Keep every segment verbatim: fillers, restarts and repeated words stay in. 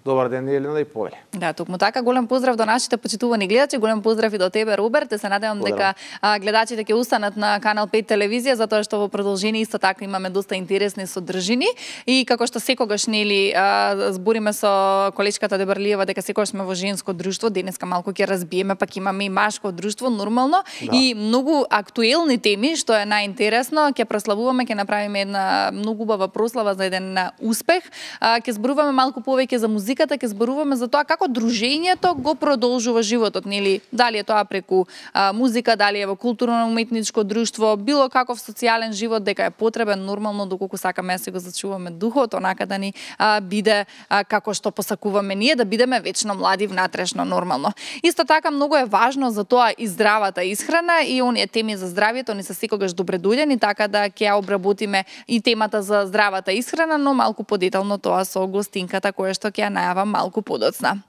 Добар ден, Елена и Повеле. Да, токму така, голем поздрав до нашите почитувани гледачи, голем поздрав и до тебе, Роберт. Се надевам дека а, гледачите ќе устанат на Канал пет телевизија, затоа што во продолжение исто така имаме доста интересни содржини и како што секогаш нели а, збориме со колечката Дебарлиева дека секогаш сме во женско друштво, денеска малку ќе разбиеме, пак имаме и машко друштво нормално, да. И многу актуелни теми, што е најинтересно, ќе прославуваме, ќе направиме една многу убава прослава за еден успех, а, ќе зборуваме малку повеќе за музиката, ќе зборуваме за тоа како дружењето го продолжува животот, нели? Дали е тоа преку а, музика, дали е во културно-уметничко друштво, било каков социјален живот, дека е потребен нормално доколку сакаме да се го зачуваме духот, онака да ни а, биде а, како што посакуваме ние, да бидеме вечно млади внатрешно нормално. Исто така многу е важно за тоа и здравата исхрана и оние теми за здравјето ни се секогаш добредојдени, така да ќе ја обработиме и темата за здравата исхрана, но малку подетално тоа со гостинката која што ќе ја најавам малку подоцна.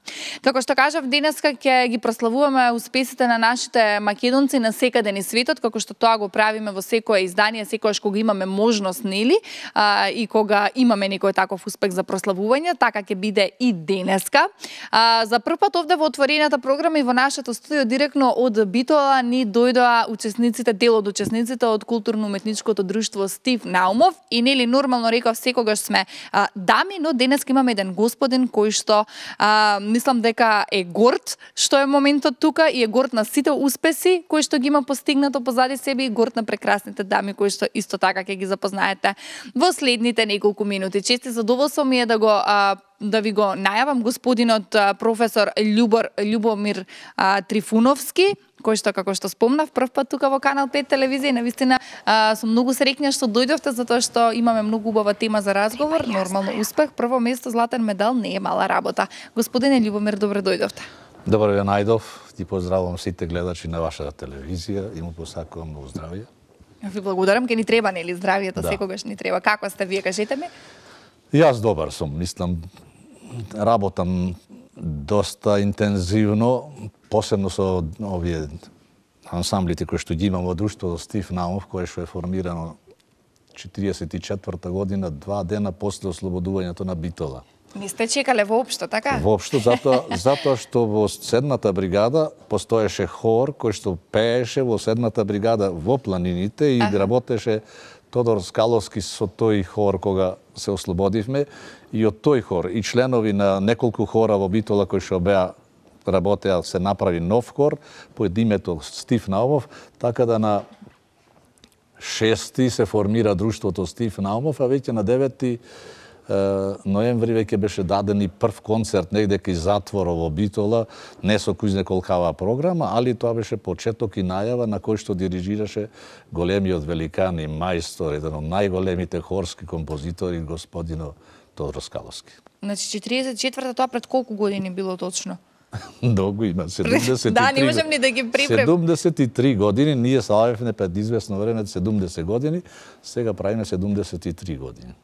Како што кажав, денеска ќе ги прославуваме успесите на нашите македонци на секаде низ светот, како што тоа го правиме во секое издание, секогаш кога имаме можност, нели, а, и кога имаме некој таков успех за прославување, така ќе биде и денеска. А, за прв пат овде во отворената програма и во нашето студио директно од Битола ни дојдоа учесниците, дел од учесниците од културно-уметничкото друштво Стив Наумов и нели нормално реков секогаш сме а, дами, но денеска имаме еден господин кој што а, мислам дека е горд што е моментот тука и е горд на сите успеси кои што ги има постигнато позади себе и горд на прекрасните дами кои што исто така ќе ги запознаете во следните неколку минути. Чести задоволство ми е да го а, да ви го најавам господинот а, професор Љубор Љубомир а, Трифуновски, кој што, како што спомнав, прв пат тука во Канал пет телевизија. Навистина а, сум многу среќна што дојдовте, затоа што имаме многу убава тема за разговор, нормално успех, прво место златен медал не е мала работа. Господине Љубомир, добре дојдовте. Добро ве најдов, ти поздравувам сите гледачи на вашата телевизија и му посакувам многу здравје. Ви благодарам, ке ни треба нели здравието, да. Секогаш ни треба. Како сте вие, кажете ми? Јас добар сум, мислам, работам доста интензивно, посебно со овие ансамблите кои што ги имам во друштвото Стив Наумов, кое што е формирано четириесет и четврта година, два дена после ослободувањето на Битола. Не сте чекале воопшто, така? Воопшто, затоа, затоа што во седмата бригада постоеше хор кој што пееше во седмата бригада во планините и ага. Работеше Тодор Скаловски со тој хор кога се ослободивме и од тој хор и членови на неколку хора во Битола кои што беа работеа, се направи нов хор под името Стив Наумов, така да на шести се формира друштвото Стив Наумов, а веќе на деветти ноември веќе беше даден и прв концерт негде кај затворот во Битола, не со кујзне колкава програма, али тоа беше почеток и најава на кој што дирижираше големиот великан и мајстор, еден од најголемите хорски композитори, господино Тодор Скаловски. Значи четириесет и четврта, тоа пред колку години било точно? Многу има, седумдесет и три. Да, не можам ни да ги припрем. седумдесет и три години, ние славевме пред известно време седумдесет години, сега правиме седумдесет и три години.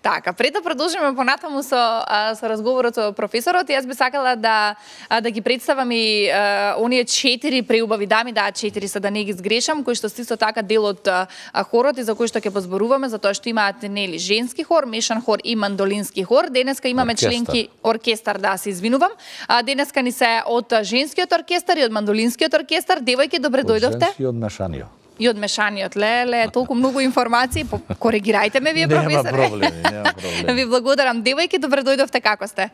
Така, пред да продолжиме понатаму со а, со разговорот со професорот, јас би сакала да а, да ги представам и а, оние четири преубави дами, да, четири се да не ги сгрешам, кои што исто така дел од а, хорот и за кои што ќе позборуваме, затоа што имаат нели женски хор, мешан хор и мандолински хор. Денеска имаме оркестар. Членки оркестар, да, се извинувам. А, денеска ни се од женскиот оркестар и од мандолинскиот оркестар. Девојки, добре дојдовте. Од женски од мешаниот. И од мешаниот, леле, толку многу информации, коригирајте ме вие, професоре. Нема проблеми, нема проблеми. Ви благодарам. Девојки, добре дојдовте, како сте?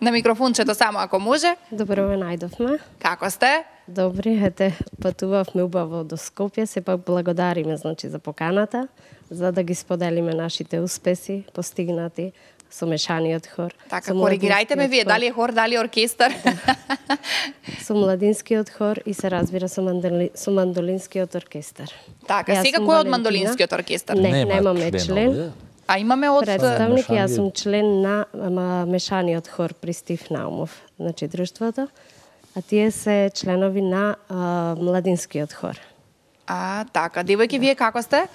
На микрофончето само ако може. Добро ве најдовме. Како сте? Добри, ете, патувавме убаво до Скопје, сепак благодариме, значи, за поканата, за да ги споделиме нашите успеси, постигнати со мешаниот хор. Така, коригирајте ме вие, дали е хор, дали е оркестар? Да. Со младинскиот хор и се разбира со, мандоли, со мандолинскиот оркестар. Така, јас сега кој од мандолинскиот оркестар? Не, Нема немаме член, член. А имаме од представник, јас сум член на ама, мешаниот хор при Стив Наумов, значи друштвото, а тие се членови на а, младинскиот хор. А, така, девојки, вие како сте?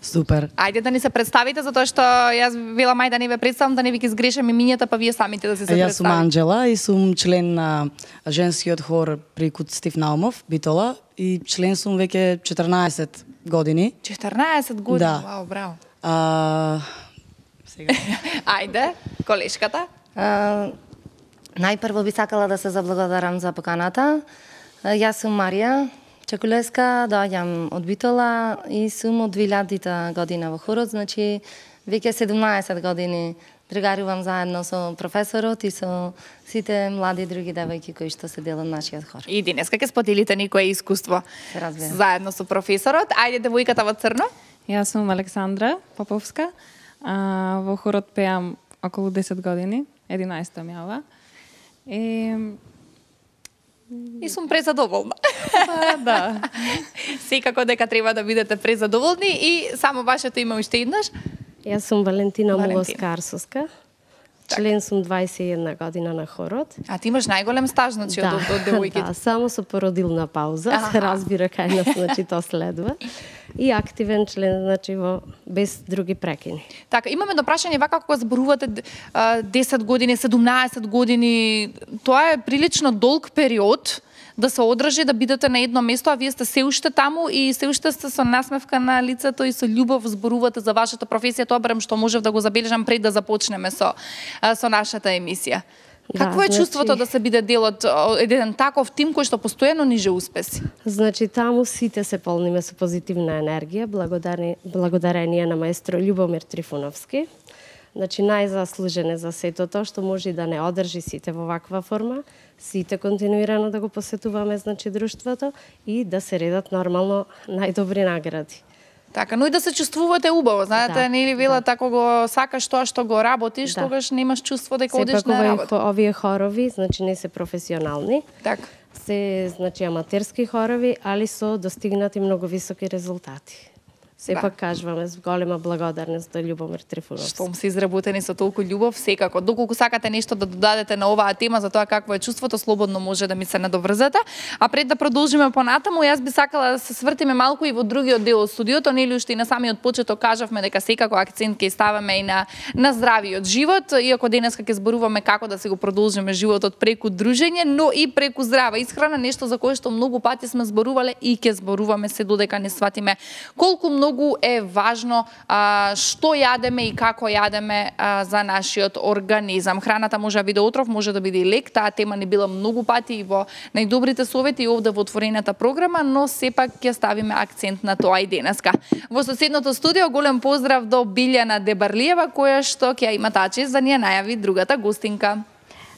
Супер. Ајде да ни се представите, затоа што јас велам ај да не ве представам, да не ви ги сгрешам имињата, па вие самите да се се представите. Јас сум Анџела и сум член на женскиот хор при куд Стив Наумов, Битола, и член сум веќе четрнаесет години. четрнаесет години, Да. вау, браво. А, сега. Ајде, колешката. А, најпрво би сакала да се заблагодарам за поканата. Јас сум Марија Чекулеска, доаѓам од Битола и сум од две илјадната година во хорот, значи веќе седумнаесет години другарувам заедно со професорот и со сите млади други девојки кои што се дел од нашиот хор. И денеска ќе споделите никое искуство разбира. заедно со професорот. Ајде, девојката во црно. Јас сум Александра Поповска. А, во хорот пеам околу десет години, единаесет јава. И И сум презадоволна. па, да. Секако дека треба да бидете презадоволни и само вашето име уште еднаш. Јас сум Валентина Валентина. Мулоска-Арсовска. Член сум дваесет и една година на хорот. А ти имаш најголем стаж, значи, од, од, од девојките. да, само со породилна пауза, Аха. се разбира кај нас, значи тоа следва. И активен член, значи во без други прекини. Така, имаме до прашање вака кога зборувате а, десет години, седумнаесет години, тоа е прилично долг период да се одржи, да бидете на едно место, а вие сте се уште таму и се уште сте со насмевка на лицето и со љубов зборувате за вашата професија. Тоа барем што можев да го забележам пред да започнеме со а, со нашата емисија. Да, Какво е значи- чувството да се биде дел од од еден таков тим кој што постојано ниже успеси? Значи, таму сите се полниме со позитивна енергија, благодарни, благодарение на маестро Љубомир Трифуновски. Значи, најзаслужен е за сето тоа што може и да не одржи сите во ваква форма, сите континуирано да го посетуваме, значи, друштвото и да се редат нормално најдобри награди. Така, но и да се чувствувате убаво, знаете, Да, нели велат ако го сакаш тоа што го работиш, Да. тогаш немаш чувство дека одиш Сепак на овие, работа. хо- овие хорови, значи, не се професионални, Така. се, значи, аматерски хорови, али со достигнати многу високи резултати. Сепак кажуваме с голема благодарност до Љубомир Трифуновски. Штом се изработени со толку љубов, секако. Доколку сакате нешто да додадете на оваа тема за тоа какво е чувството, слободно може да ми се надоврзате. А пред да продолжиме понатаму, јас би сакала да се свртиме малку и во другиот дел од студиото, нели уште и на самиот почеток кажавме дека секако акцент ќе ставаме и на на здравиот живот, иако денеска ќе зборуваме како да се го продолжиме животот преку дружење, но и преку здрава исхрана, нешто за кое што многу пати сме зборувале и ќе зборуваме се додека не сватиме колку многу е важно а, што јадеме и како јадеме а, за нашиот организам. Храната може да биде отров, може да биде и лек, таа тема не била многу пати и во најдобрите совети и овде во отворената програма, но сепак ќе ставиме акцент на тоа и денеска. Во соседното студио голем поздрав до Билјана Дебарлиева, која што ќе ја има таа чест да ни ја најави другата гостинка.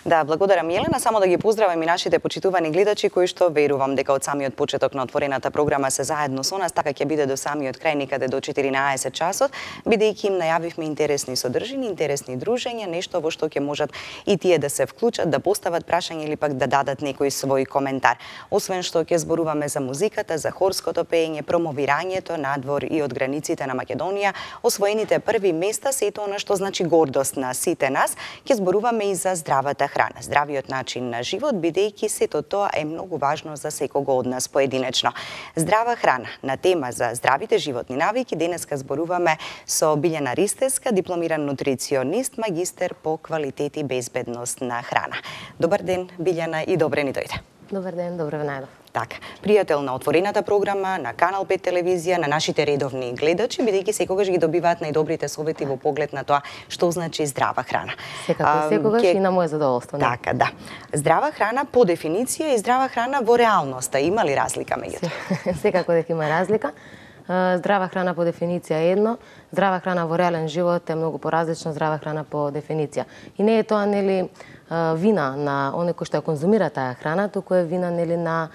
Да, благодарам Јелена, само да ги поздравам и нашите почитувани гледачи кои што верувам дека од самиот почеток на отворената програма се заедно со нас, така ќе биде до самиот крај некаде до четиринаесет часот, бидејќи им најавивме интересни содржини, интересни дружења, нешто во што ќе можат и тие да се вклучат, да постават прашање или пак да дадат некој свој коментар. Освен што ќе зборуваме за музиката, за хорското пеење, промовирањето надвор и од границите на Македонија, освоените први места, сето она што значи гордост на сите нас, ќе зборуваме и за здравата храна, здравиот начин на живот, бидејќи сето тоа е многу важно за секого од нас поединечно. Здрава храна, на тема за здравите животни навики, денеска зборуваме со Билјана Ристевска, дипломиран нутриционист, магистер по квалитет и безбедност на храна. Добар ден, Билјана, и добре ни дојде. Добар ден, добро ве најдов. Така, пријател на отворената програма, на Канал пет телевизија, на нашите редовни гледачи, бидејќи секогаш ги добиваат најдобрите совети во поглед на тоа што значи здрава храна. Секако, секогаш ке... и на моје задоволство. Така, да. Здрава храна по дефиниција и здрава храна во реалноста, има ли разлика меѓу? Секако дека има разлика. Здрава храна по дефиниција е едно, здрава храна во реален живот е многу поразлично здрава храна по дефиниција. И не е тоа нели вина на оној кој што ја конзумира таа храна, туку е вина нели на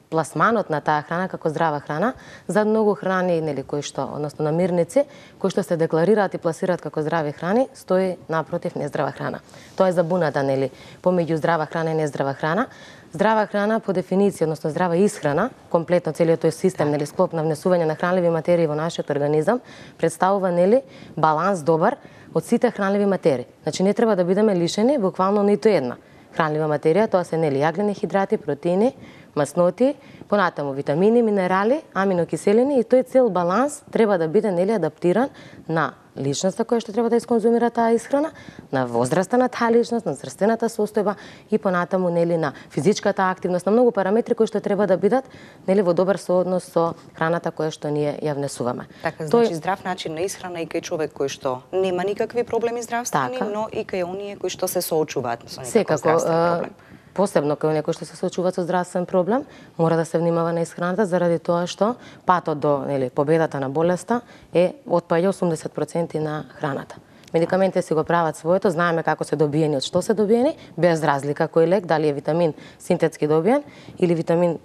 пласманот на таа храна како здрава храна. За многу храни нели кои што, односно намирници, кои што се декларираат и пласираат како здрави храни, стои напротив нездрава храна. Тоа е забуната нели помеѓу здрава храна и нездрава храна. Здрава храна по дефиниција, односно здрава исхрана, комплетно целиот тој систем, нели склоп на внесување на хранливи материи во нашиот организам, представува нели баланс добар од сите хранливи материи. Значи не треба да бидеме лишени буквално ниту една хранлива материја, тоа се нели јаглени хидрати, протеини, масноти, понатаму витамини, минерали, аминокиселини и тој цел баланс треба да биде нели адаптиран на личноста која што треба да исконзумира таа исхрана, на возраста на таа личност, на здравствената состојба и понатаму нели на физичката активност, на многу параметри кои што треба да бидат нели во добар сооднос со храната која што ние ја внесуваме. Така, значи здрав начин на исхрана и кај човек кој што нема никакви проблеми здравствени, така, но и кај оние кои што се соочуваат со некој здравствен проблем. Посебно кај некој што се соочува со здравствен проблем, мора да се внимава на исхраната заради тоа што патот до нели победата на болеста е отпаѓа осумдесет проценти на храната. Медикаментите си го прават своето, знаеме како се добиени, од што се добиени, без разлика кој лек, дали е витамин синтетски добиен или витамин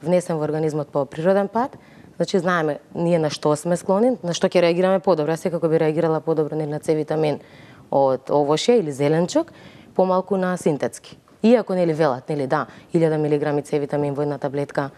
внесен во организмот по природен пат. Значи знаеме ние на што сме склони, на што ќе реагираме подобро. Јас секако би реагирала подобро нели на С витамин од овошје или зеленчук, помалку на синтетски. Иако нели велат, нели да, илјада милиграми С витамин во една таблетка,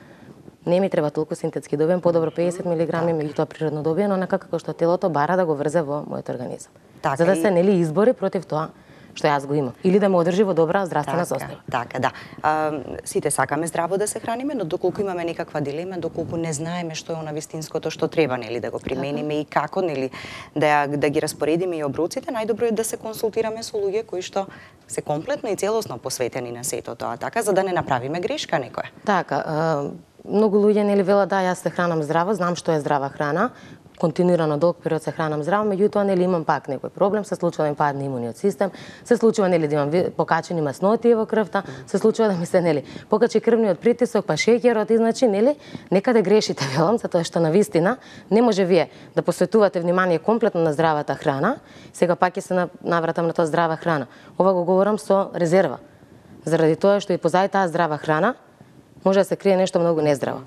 не ми треба толку синтетски добиен, подобро педесет милиграми, меѓутоа природно добиено, онака како што телото бара да го врзе во мојот организам. Така, за да се и... нели избори против тоа што јас го имам, или да ме одржи во добра здравствена состојба. Така, да. А, сите сакаме здраво да се храниме, но доколку имаме некаква дилема, доколку не знаеме што е она вистинското што треба нели да го примениме и како нели да да ги распоредиме и оброците, најдобро е да се консултираме со луѓе кои што се комплетно и целосно посветени на сето тоа, така за да не направиме грешка некоја. Така, а, многу луѓе нели велат да јас се хранам здраво, знам што е здрава храна, континуирано долг период се хранам здраво, меѓутоа нели имам пак некој проблем, се случува да ми падне имуниот систем, се случува нели да имам покачени масноти во крвта, се случува да ми се нели покачи крвниот притисок, па шеќерот и значи нели некаде грешите велам, затоа што на вистина не може вие да посветувате внимание комплетно на здравата храна, сега пак ќе се навратам на тоа здрава храна. Ова го говорам со резерва. Заради тоа што и позади таа здрава храна може да се крие нешто многу нездраво.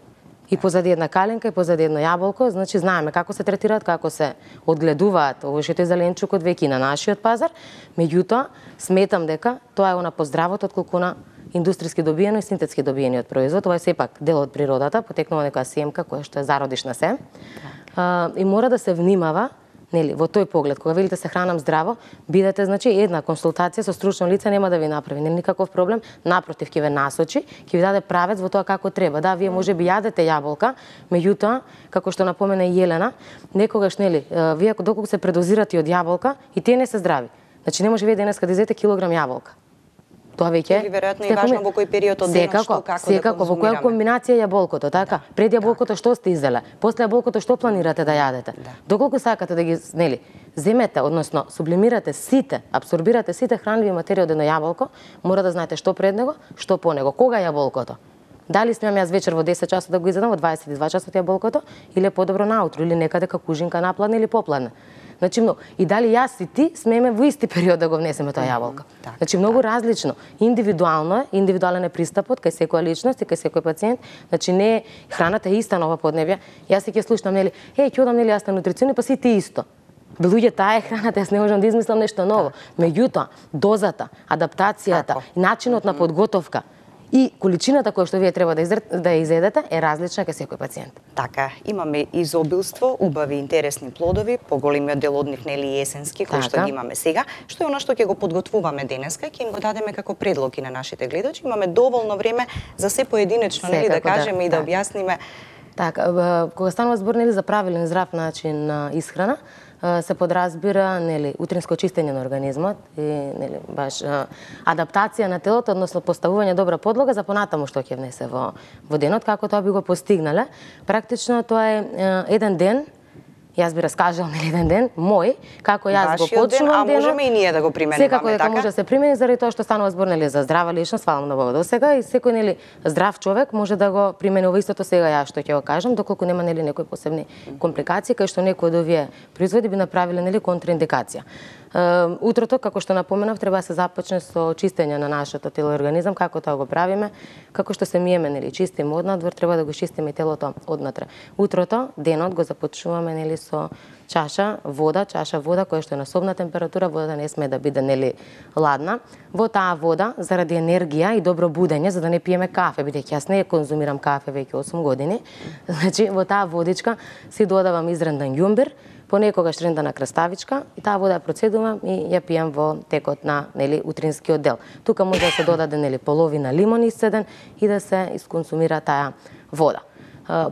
И позади една каленка, и позади едно јаболко, значи знаеме како се третираат, како се одгледуваат овошјето и зеленчукот веќе на нашиот пазар, меѓутоа сметам дека тоа е она поздравот отколку на индустријски добиено и синтетски добиениот производ. Ова е сепак дел од природата, потекнува некоја семка која што е зародишна сем. А, и мора да се внимава нели во тој поглед, кога велите се хранам здраво, бидете значи една консултација со стручно лице нема да ви направи нели никаков проблем, напротив ќе ве насочи, ќе ви даде правец во тоа како треба. Да, вие може би јадете јаболка, меѓутоа, како што напомена и Елена, некогаш нели вие доколку се предозирате од јаболка и тие не се здрави. Значи не може вие денеска да изедете килограм јаболка. Тоа веќе или веројатно и важно во кој период од денот што како секако, да конзумираме. во која комбинација јаболкото, така? Да, Пред јаболкото што сте изеле, после јаболкото што планирате да јадете? Да. Доколку сакате да ги нели земете, односно сублимирате сите, апсорбирате сите хранливи материи од едно јаболко, мора да знаете што пред него, што по него, кога јаболкото. Дали смеам јас вечер во десет часот да го изедам, во дваесет и два часот јаболкото, или е подобро наутро, или некаде како кужинка напладне или попладне. Значи, но, и дали јас и ти смееме во исти период да го внесеме тоа јаболка. Так, значи, многу так. различно. Индивидуално е, индивидуален е пристапот кај секоја личност и кај секој пациент. Значи, не е храната е иста на ова поднебје. Јас ќе слушнам, нели, еј, ќе одам, нели, јас на нутрициони, па си ти исто. Бе, луѓе, таа е храната, јас не можам да измислам нешто ново. Меѓутоа, дозата, адаптацијата, Тако. начинот на подготовка и количината која што вие треба да да ја изедете е различна кај секој пациент. Така, имаме изобилство, убави, интересни плодови, поголемиот дел од нив нели есенски, кои што ги имаме сега, што е она што ќе го подготвуваме денеска, ќе им го дадеме како предлог и на нашите гледачи. Имаме доволно време за се поединечно, нели да кажеме да, и да так. објасниме. Така, кога станува збор нели за правилен здрав начин на исхрана, се подразбира нели утринско чистење на организмот и нели баш адаптација на телото, односно поставување добра подлога за понатаму што ќе внесе во во денот, како тоа би го постигнале. Практично тоа е еден ден. Јас би раскажал нели еден ден мој како јас го почнувам денот. А можеме и ние да го применуваме така. Секако дека може да се примени заради тоа што станува збор нели за здрава личност, фалам на Бога досега и секој нели здрав човек може да го применува истото сега јас што ќе го кажам, доколку нема нели некои посебни компликации кај што некој од овие производи би направиле нели контраиндикација. Утрото, како што напоменав, треба да се започне со чистење на нашето тело и организам, како тоа го правиме, како што се миеме, нели, чистиме однадвор, треба да го чистиме телото однатре. Утрото, денот го започнуваме нели со чаша вода, чаша вода која што е на собна температура, водата не сме да биде нели ладна. Во таа вода, заради енергија и добро будење, за да не пиеме кафе, бидејќи јас не конзумирам кафе веќе осум години, значи во таа водичка си додавам изрендан ѓумбир, Понекогаш рендана краставичка и таа вода ја процедувам и ја пијам во текот на, нели, утринскиот дел. Тука може да се додаде, нели, половина лимон исцеден и да се исконсумира таа вода.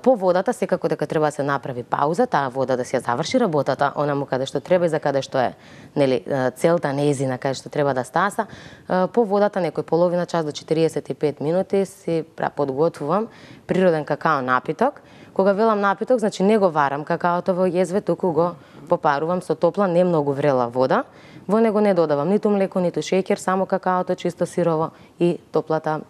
По водата секако дека треба да се направи пауза, таа вода да се ја заврши работата, онаму каде што треба и за каде што е, нели, целта нејзина, каде што треба да стаса. По водата некој половина час до четириесет и пет минути си подготвувам природен какао напиток. Кога велам напиток, значи не го варам какаото во језве, туку го попарувам со топла, не многу врела вода. Во него не додавам ниту млеко, ниту шеќер, само какаото чисто сирово и топлата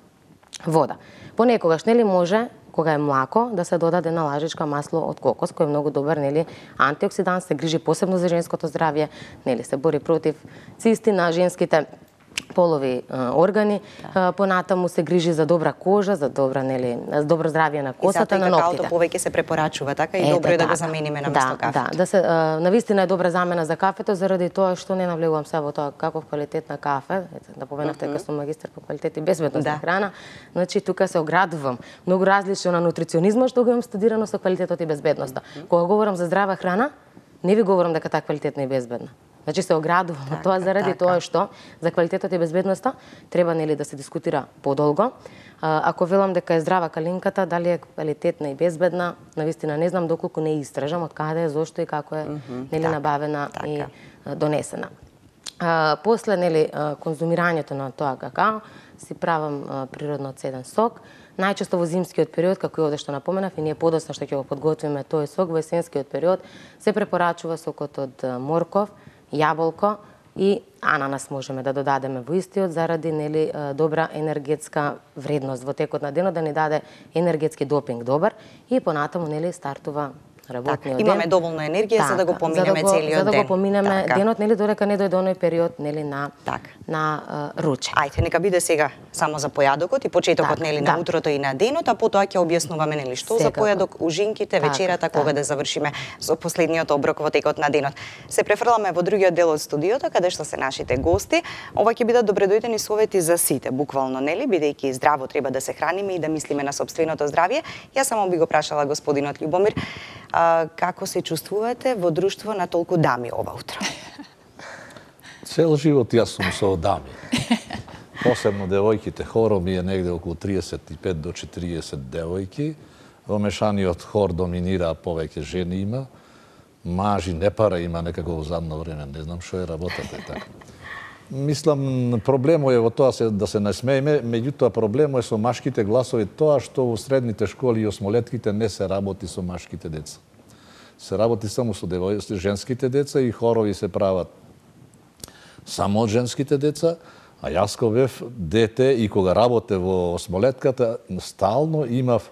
вода. Понекогаш, нели, може кога е млако, да се додаде на лажичка масло од кокос, кој е многу добар, нели, антиоксидант, се грижи посебно за женското здравје, нели, се бори против цисти на женските полови а, органи, да. Понатаму се грижи за добра кожа, за добра, нели, за добро здравје на косата, на ноктите. И затоа и повеќе се препорачува, така и добро е да, да го замениме на место кафето. Да, да се а, навистина е добра замена за кафето заради тоа што не навлегувам се во тоа каков квалитет на кафе, да поменавте дека сум магистар по квалитет и безбедност на храна. Значи тука се оградувам. Многу различно на нутриционизмот што го имам студирано со квалитетот и безбедноста. Кога говорам за здрава храна, не ви говорам дека таа квалитетна и безбедна. Значи се оградувам од тоа заради тоа што за квалитетот и безбедноста треба, нели, да се дискутира подолго. Ако велам дека е здрава калинката, дали е квалитетна и безбедна, навистина не знам доколку не истражам од каде е, зошто и како е, нели, набавена и донесена. После, нели, конзумирањето на тоа какао си правам природно цеден сок. Најчесто во зимскиот период, како и овде што напоменав, и ние подоцна што ќе го подготвиме тој сок, во есенскиот период се препорачува сокот од морков, јаболко и ананас можеме да додадеме во истиот заради, нели, добра енергетска вредност во текот на денот, да ни даде енергетски допинг добар и понатаму, нели, стартува работниот ден. Имаме доволна енергија така, за да го поминеме за да го, целиот ден. За да го поминеме така. денот, нели, додека не дојде оној период, нели, на така. на uh, руче. Ајде, нека биде сега само за појадокот и почетокот, така, нели, на да. утрото и на денот, а потоа ќе објаснуваме, нели, што Секако. за појадок, ужинките, така, вечерата, така. кога да завршиме со последниот оброк во текот на денот. Се префрламе во другиот дел од студиото, каде што се нашите гости. Ова ќе бидат добредојдени совети за сите, буквално, нели, бидејќи здраво треба да се храниме и да мислиме на сопственото здравје. Јас само би го прашала господинот Љубомир, а, како се чувствувате во друштво на толку дами ова утро? Цел живот јас сум со дами. Посебно девојките, хоро ми е негде околу триесет и пет до четириесет девојки. Во мешаниот хор доминира повеќе жени има. Мажи не пара има некако во задно време, не знам што е работата и така. Мислам, проблемот е во тоа се, да се насмееме, меѓутоа проблемот е со машките гласови тоа што во средните школи и осмолетките не се работи со машките деца. Се работи само со девојците, женските деца и хорови се прават само од женските деца, а јас кога бев дете и кога работе во осмолетката, стално имав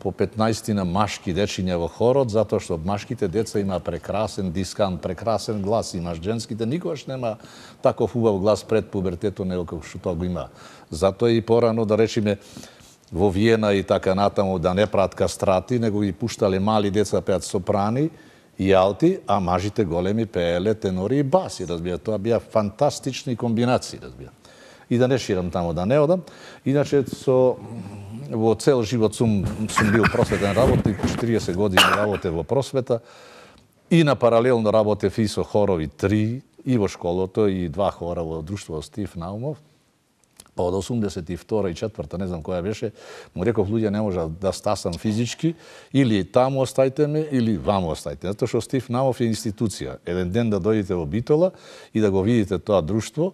по петнаесет машки дечиња во хорот, затоа што машките деца има прекрасен дискант, прекрасен глас, имаш женските, никогаш нема таков убав глас пред пубертетот, него како што тоа го има. Затоа и порано, да речеме, во Виена и така натаму да не прават кастрати, него ги пуштале мали деца да пеат сопрани и алти, а мажите големи пееле тенори и баси, разбира. Тоа бија фантастични комбинации, разбира. И да не ширам таму, да не одам. Иначе со во цел живот сум сум бил просветен работник, четириесет години работе во просвета и на паралелно работев и со хорови три и во школото и два хора во друштво Стив Наумов. Па од осумдесет и втора и четврта, не знам која беше, му реков луѓе не може да стасам физички, или таму остајте ме, или ваму остајте. Затоа што Стив Наумов е институција. Еден ден да дојдете во Битола и да го видите тоа друштво,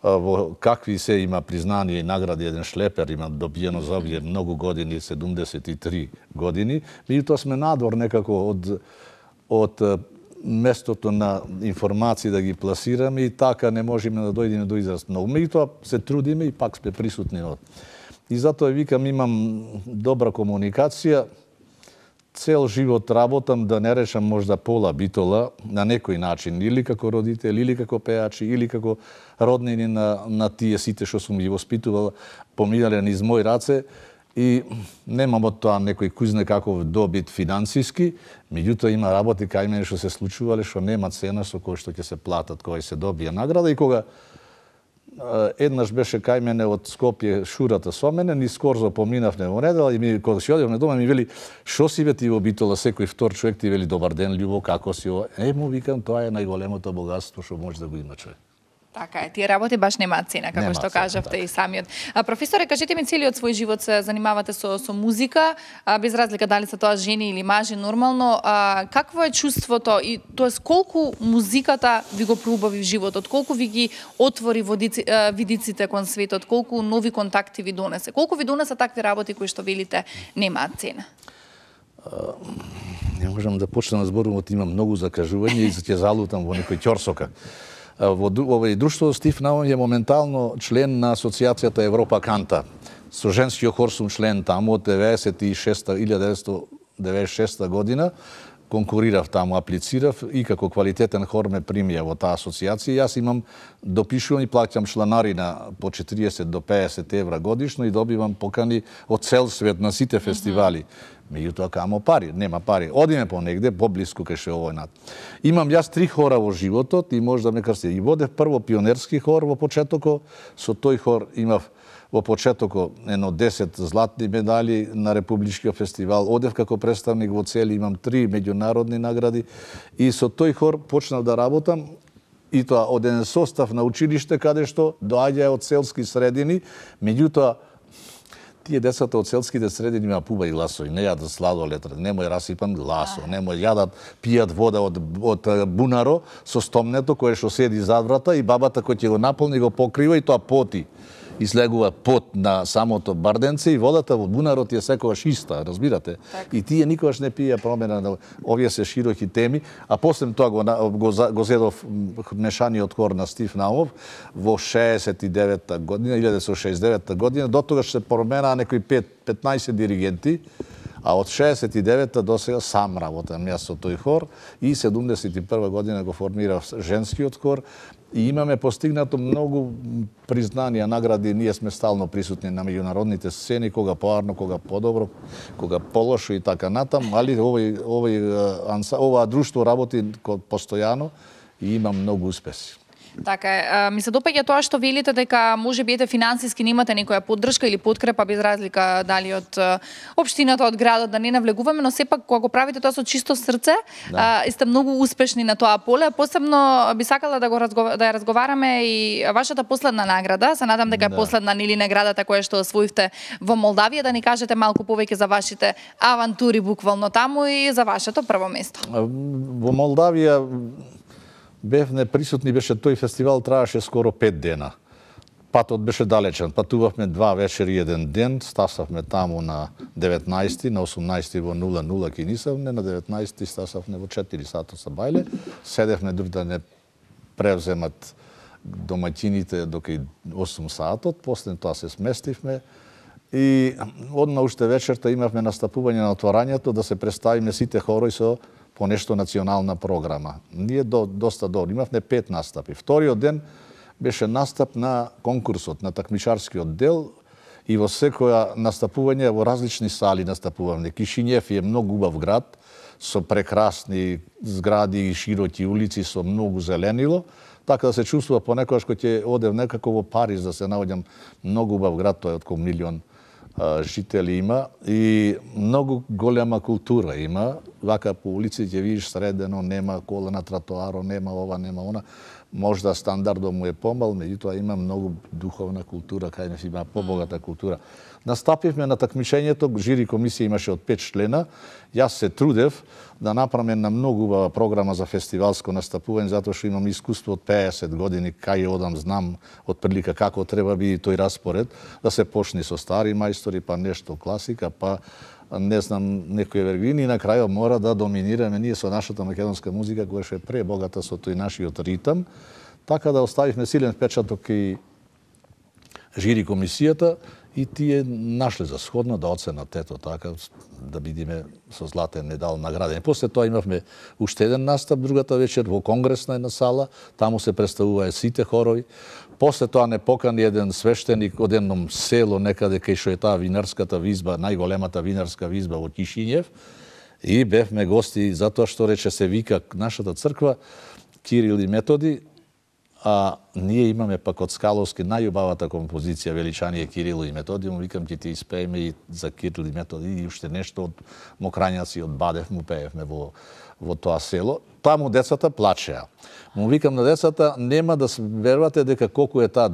во какви се има признание и награди, еден шлепер има добиено за овие многу години, седумдесет и три години, меѓутоа сме надвор некако од од местото на информации да ги пласираме и така не можеме да дојдеме до израз многу. Меѓутоа се трудиме и пак сме присутни од. И затоа викам, имам добра комуникација, цел живот работам, да не речам можда пола Битола на некој начин, или како родител, или како пеачи, или како роднини на, на тие сите што сум ги воспитувал, поминале низ мои раце, и немам од тоа некој кузне каков добит финансиски, меѓутоа има работи кај мене што се случувале, што нема цена со кој што ќе се платат, кој се добија награда, и кога еднаш беше кај мене од Скопје шурата со мене, ни скорзо поминавме во недела и ми кога си одевме дома ми вели шо си бе ти во Битола, секој втор човек ти вели добар ден љубо, како си ова? Е, му викам, тоа е најголемото богатство што може да го има човек. Така е, тие работи баш немаат цена, како Нема што цена, кажавте така. и самиот. А, професоре, кажете ми, целиот свој живот се занимавате со, со музика, а, без разлика дали се тоа жени или мажи нормално. А, какво е чувството и тоест колку музиката ви го проубави в животот, колку ви ги отвори водици, а, видиците кон светот, колку нови контакти ви донесе, колку ви донесе такви работи кои што велите немаат цена? Uh, не можам да почнам да зборувам, имам многу закажување и ќе залутам во некој ќорсока. Во овој друштво Стив Наум е моментално член на Асоциацијата Европа Канта. Со женскиот хор сум член таму од деветдесет и шеста година. Конкурирав таму, аплицирав и како квалитетен хор ме примија во таа асоциација. Јас имам допишувам и плаќам чланарина по четириесет до пеесет евра годишно и добивам покани од цел свет на сите фестивали. Меѓутоа камо пари, нема пари. Одиме по негде, поблиску кај ше овој над. Имам јас три хора во животот и може да ме крсти. И водев прво пионерски хор во почетокот, со тој хор имав во почетокот едно десет златни медали на Републичкиот фестивал. Одев како представник во цели, имам три меѓународни награди и со тој хор почнав да работам и тоа од еден состав на училиште каде што доаѓа од селски средини, меѓутоа тие децата од селските средини има пубави гласови, не јадат сладолед, немој расипан гласо, немој јадат, пијат вода од, од бунаро со стомнето кое што седи зад врата и бабата кој ќе го наполни го покрива и тоа поти. И слегува пот на самото барденце и водата во бунарот е секогаш иста, разбирате? Так. И тие никогаш не пија промена на овие се широки теми, а после тоа го, го, го зедов мешаниот хор на Стив Наумов во шеесет и девета година, илјадесет и шеесет и девета година, до тогаш се променаа некои петнаесет диригенти, а од шеесет и девета до сега сам работам јас со тој хор и седумдесет и прва година го формирав женскиот хор и имаме постигнато многу признанија, награди, ние сме стално присутни на меѓународните сцени, кога поарно, кога подобро, кога полошо и така натам, али овој овој ова друштво работи постојано и има многу успеси. Така е. Ми се допаѓа тоа што велите дека може би ете финансиски немате некоја поддршка или подкрепа без разлика дали од општината, од градот, да не навлегуваме, но сепак кога го правите тоа со чисто срце, да. Сте многу успешни на тоа поле. Посебно би сакала да го разгова... да ја разговараме и вашата последна награда. Се надам дека е да. Последна нели наградата која што освоивте во Молдавија, да ни кажете малку повеќе за вашите авантури буквално таму и за вашето прво место. Во Молдавија бевме присутни, беше тој фестивал, траеше скоро пет дена. Патот беше далечен, патувавме два вечери еден ден, стасавме таму на деветнаесети, на осумнаесети во нула нула кинисавме, на деветнаесети стасавме во четири сата са бајле, седевме дури да не превземат домаќините до кај осум сатот, после тоа се сместивме и одма уште вечерта имавме настапување на отворањето да се представиме сите хорои со по нешто национална програма. Ние до, доста добро, имавме пет настапи. Вториот ден беше настап на конкурсот, на такмичарскиот дел и во секоја настапување во различни сали настапувавме. Кишињев е многу убав град, со прекрасни згради и широки улици, со многу зеленило, така да се чувствува понекогаш кој ќе одев некако во Париз да се наоѓам, многу убав град, тој од околу милион жители има и многу голема култура има. Вака по улици ќе видиш средено, нема кола на тротоаро, нема ова, нема она. Можда стандардот му е помал, меѓутоа има многу духовна култура, кај не има побогата култура. Настапивме на такмичењето, жири комисија имаше од пет члена. Јас се трудев да направам на многу убава програма за фестивалско настапување, затоа што имам искуство од пеесет години, кај одам, знам од прилика како треба биде тој распоред, да се почне со стари мајстори, па нешто класика, па не знам, некои евергрини и на крајот мора да доминираме ние со нашата македонска музика, која што е пребогата со тој нашиот ритам, така да оставивме силен впечаток и жири комисијата и тие нашле за сходно да оценат ето така, да бидеме со златен медал наградени. После тоа имавме уште еден настап другата вечер во конгресна една сала, таму се представуваа сите хорови. После тоа не покани еден свештеник од едном село некаде кај што е таа винарската визба, најголемата винарска визба во Кишињев, и бевме гости затоа што рече се вика нашата црква Кирил и Методи, а ние имаме пак од Скаловски најубавата композиција Величание Кирило и Методи, му викам ќе ти испееме и за Кирил и Методи и уште нешто од Мокрањаци, од Бадев му пеевме во во тоа село. Таму децата плачеа. Му викам на децата, нема да верувате дека колку е таа,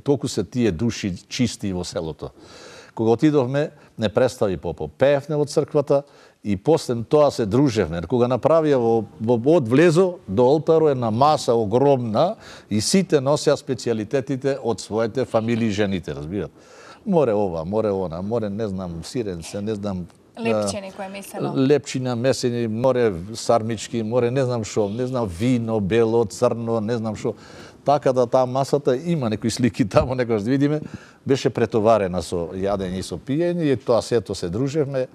толку се тие души чисти во селото. Кога отидовме, не представи Попов. Пеевме во црквата и после тоа се дружевме. Кога направија во, во од влезо до олтаро една маса огромна и сите носеа специјалитетите од своите фамилии жените, разбират. Море ова, море она, море не знам сиренце, не знам Лепче некое месено. Лепчина, месени, море сармички, море не знам шо, не знам вино, бело, црно, не знам шо. Така да таа масата има некои слики таму, некојаш да видиме, беше претоварена со јадење и со пиење и тоа сето се дружевме.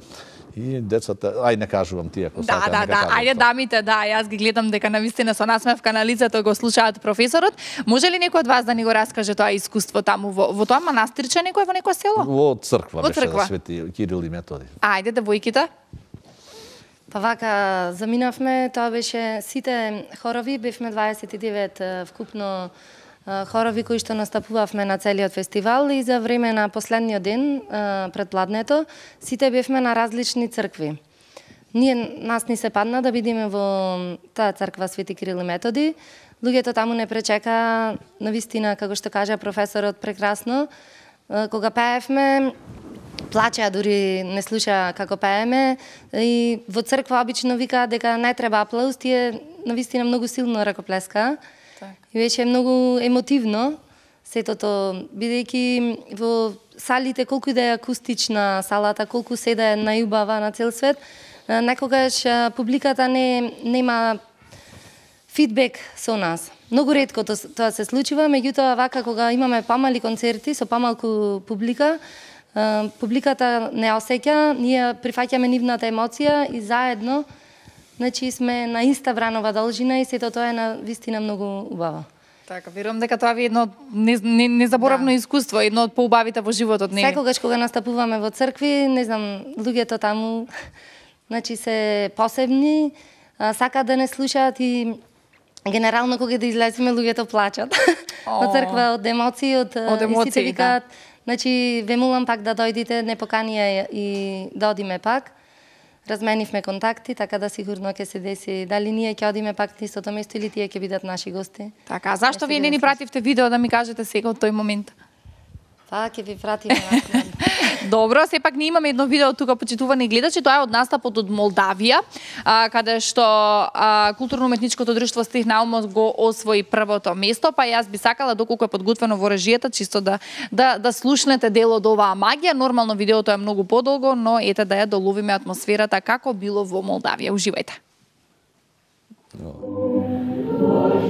И децата, ај не кажувам тие ако Да, сакаат, да, нека да, кажат ајде тоа. дамите, да, јас ги гледам дека навистина со насмевка на лицето го слушаат професорот. Може ли некој од вас да ни го раскаже тоа искуство таму во, во тоа манастирче некој во некое село? Во црква Во беше црква. да Свети Кирил и Методи. Ајде, девојките. Па вака, заминавме, тоа беше сите хорови, бевме дваесет и девет е, вкупно е, хорови кои што настапувавме на целиот фестивал и за време на последниот ден, е, пред пладнето, сите бевме на различни цркви. Ние, нас ни се падна да бидеме во таа црква Свети Кирил и Методи. Луѓето таму не пречека, навистина, како што кажа професорот, прекрасно. Е, Кога пеевме, плачеа, дури не слуша како пееме и во црква обично викаат дека не треба аплауз, тие навистина многу силно ракоплеска. И беше многу емотивно сетото, бидејќи во салите колку и да е акустична салата, колку се да е најубава на цел свет, некогаш публиката не нема фидбек со нас. Многу ретко тоа се случува, меѓутоа вака кога имаме помали концерти со помалку публика, публиката не осеќа, ние прифаќаме нивната емоција и заедно, значи сме на иста вранова должина и сето тоа е на вистина многу убаво. Така, верувам дека тоа ви е едно незаборавно Да. искуство, едно од поубавите во животот, не? Секогаш кога настапуваме во цркви, не знам, луѓето таму значи се посебни, а, сакаат да не слушаат и генерално кога да излеземе луѓето плачат. Во црква од емоции, од, Од и емоции, сите да. викаат, значи ве молам пак да дојдите, не поканија и да одиме пак. Разменивме контакти, така да сигурно ќе се деси дали ние ќе одиме пак на истото место или тие ќе бидат наши гости. Така, а зашто Ќе се вие не ни деси. пративте видео да ми кажете сега од тој момент? Па ќе ви пратиме накнадно. Добро, сепак ние имаме едно видео тука, почитувани гледачи, тоа е од настапот од Молдавија, а, каде што а, културно-уметничкото друштво Стих Наумов го освои првото место, па јас би сакала доколку е подготвено во режијата, чисто да да да слушнете дел од оваа магија. Нормално видеото е многу подолго, но ете да ја доловиме атмосферата како било во Молдавија. Уживајте. Oh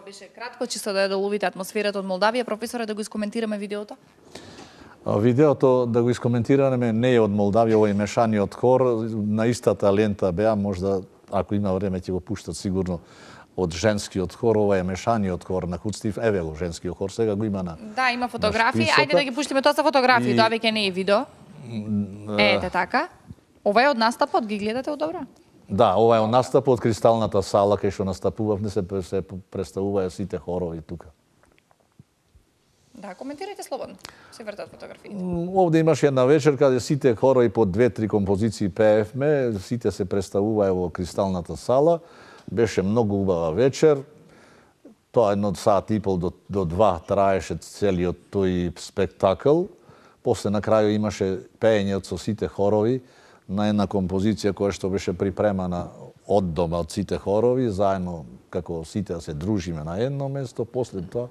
беше кратко, чисто да ја доловите атмосферата од Молдавија. Професоре, да го искоментираме видеото? Видеото, да го искоментираме, не е од Молдавија, овој мешаниот хор, на истата лента беа, можда, ако има време, ќе го пуштат сигурно од женскиот хор, ова е мешаниот хор на Куцтив, еве го женскиот хор, сега го има на... Да, има фотографии, ајде да ги пуштиме, тоа се фотографии, тоа веќе не е видео. Ете така. Ова е од настапот, ги гледате од добро? Да, ова е од настапот од Кристалната сала, кај што настапувавме, се, се представуваја сите хорови тука. Да, коментирајте слободно. Се вртат фотографиите. Овде имаше една вечер каде сите хорови по две-три композиции пеевме, сите се представуваја во Кристалната сала. Беше многу убава вечер. Тоа едно сат и пол до, до два траеше целиот тој спектакл. После на крају имаше пеење со сите хорови на една композиција која што беше припремана од дома од сите хорови, заедно како сите да се дружиме на едно место. После тоа,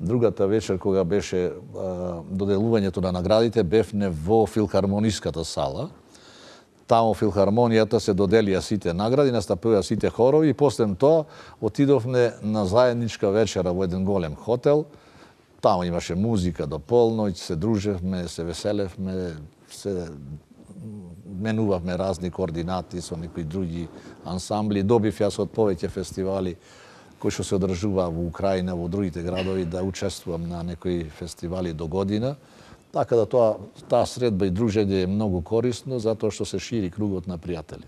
другата вечер кога беше а, доделувањето на наградите, бевне во филхармониската сала. Таму филхармонијата се доделија сите награди, настапија сите хорови и после тоа отидовме на заедничка вечера во еден голем хотел. Таму имаше музика до полноќ, се дружевме, се веселевме, се менувавме разни координати со некои други ансамбли. Добив јас од повеќе фестивали кои што се одржува во Украина, во другите градови, да учествувам на некои фестивали до година. Така да тоа, таа средба и дружење е многу корисно, затоа што се шири кругот на пријатели.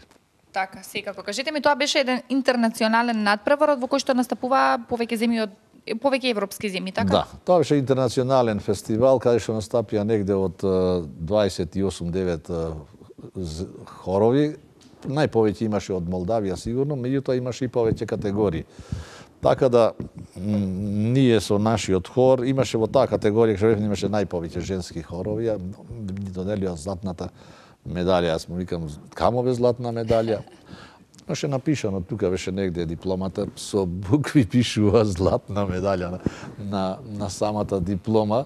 Така, секако. Кажете ми, тоа беше еден интернационален надпреварот во кој што настапува повеќе земји од повеќе европски земји, така? Да, тоа беше интернационален фестивал каде што настапија негде од дваесет и осум девет хорови. Најповеќе имаше од Молдавија сигурно, меѓутоа имаше и повеќе категории. Така да ние со нашиот хор имаше во таа категорија што имаше најповеќе женски хорови, ни доделија златната медалја. Јас му викам, камо бе златна медалја? Беше напишано, тука беше негде дипломата, со букви пишува златна медалја на, на, на самата диплома,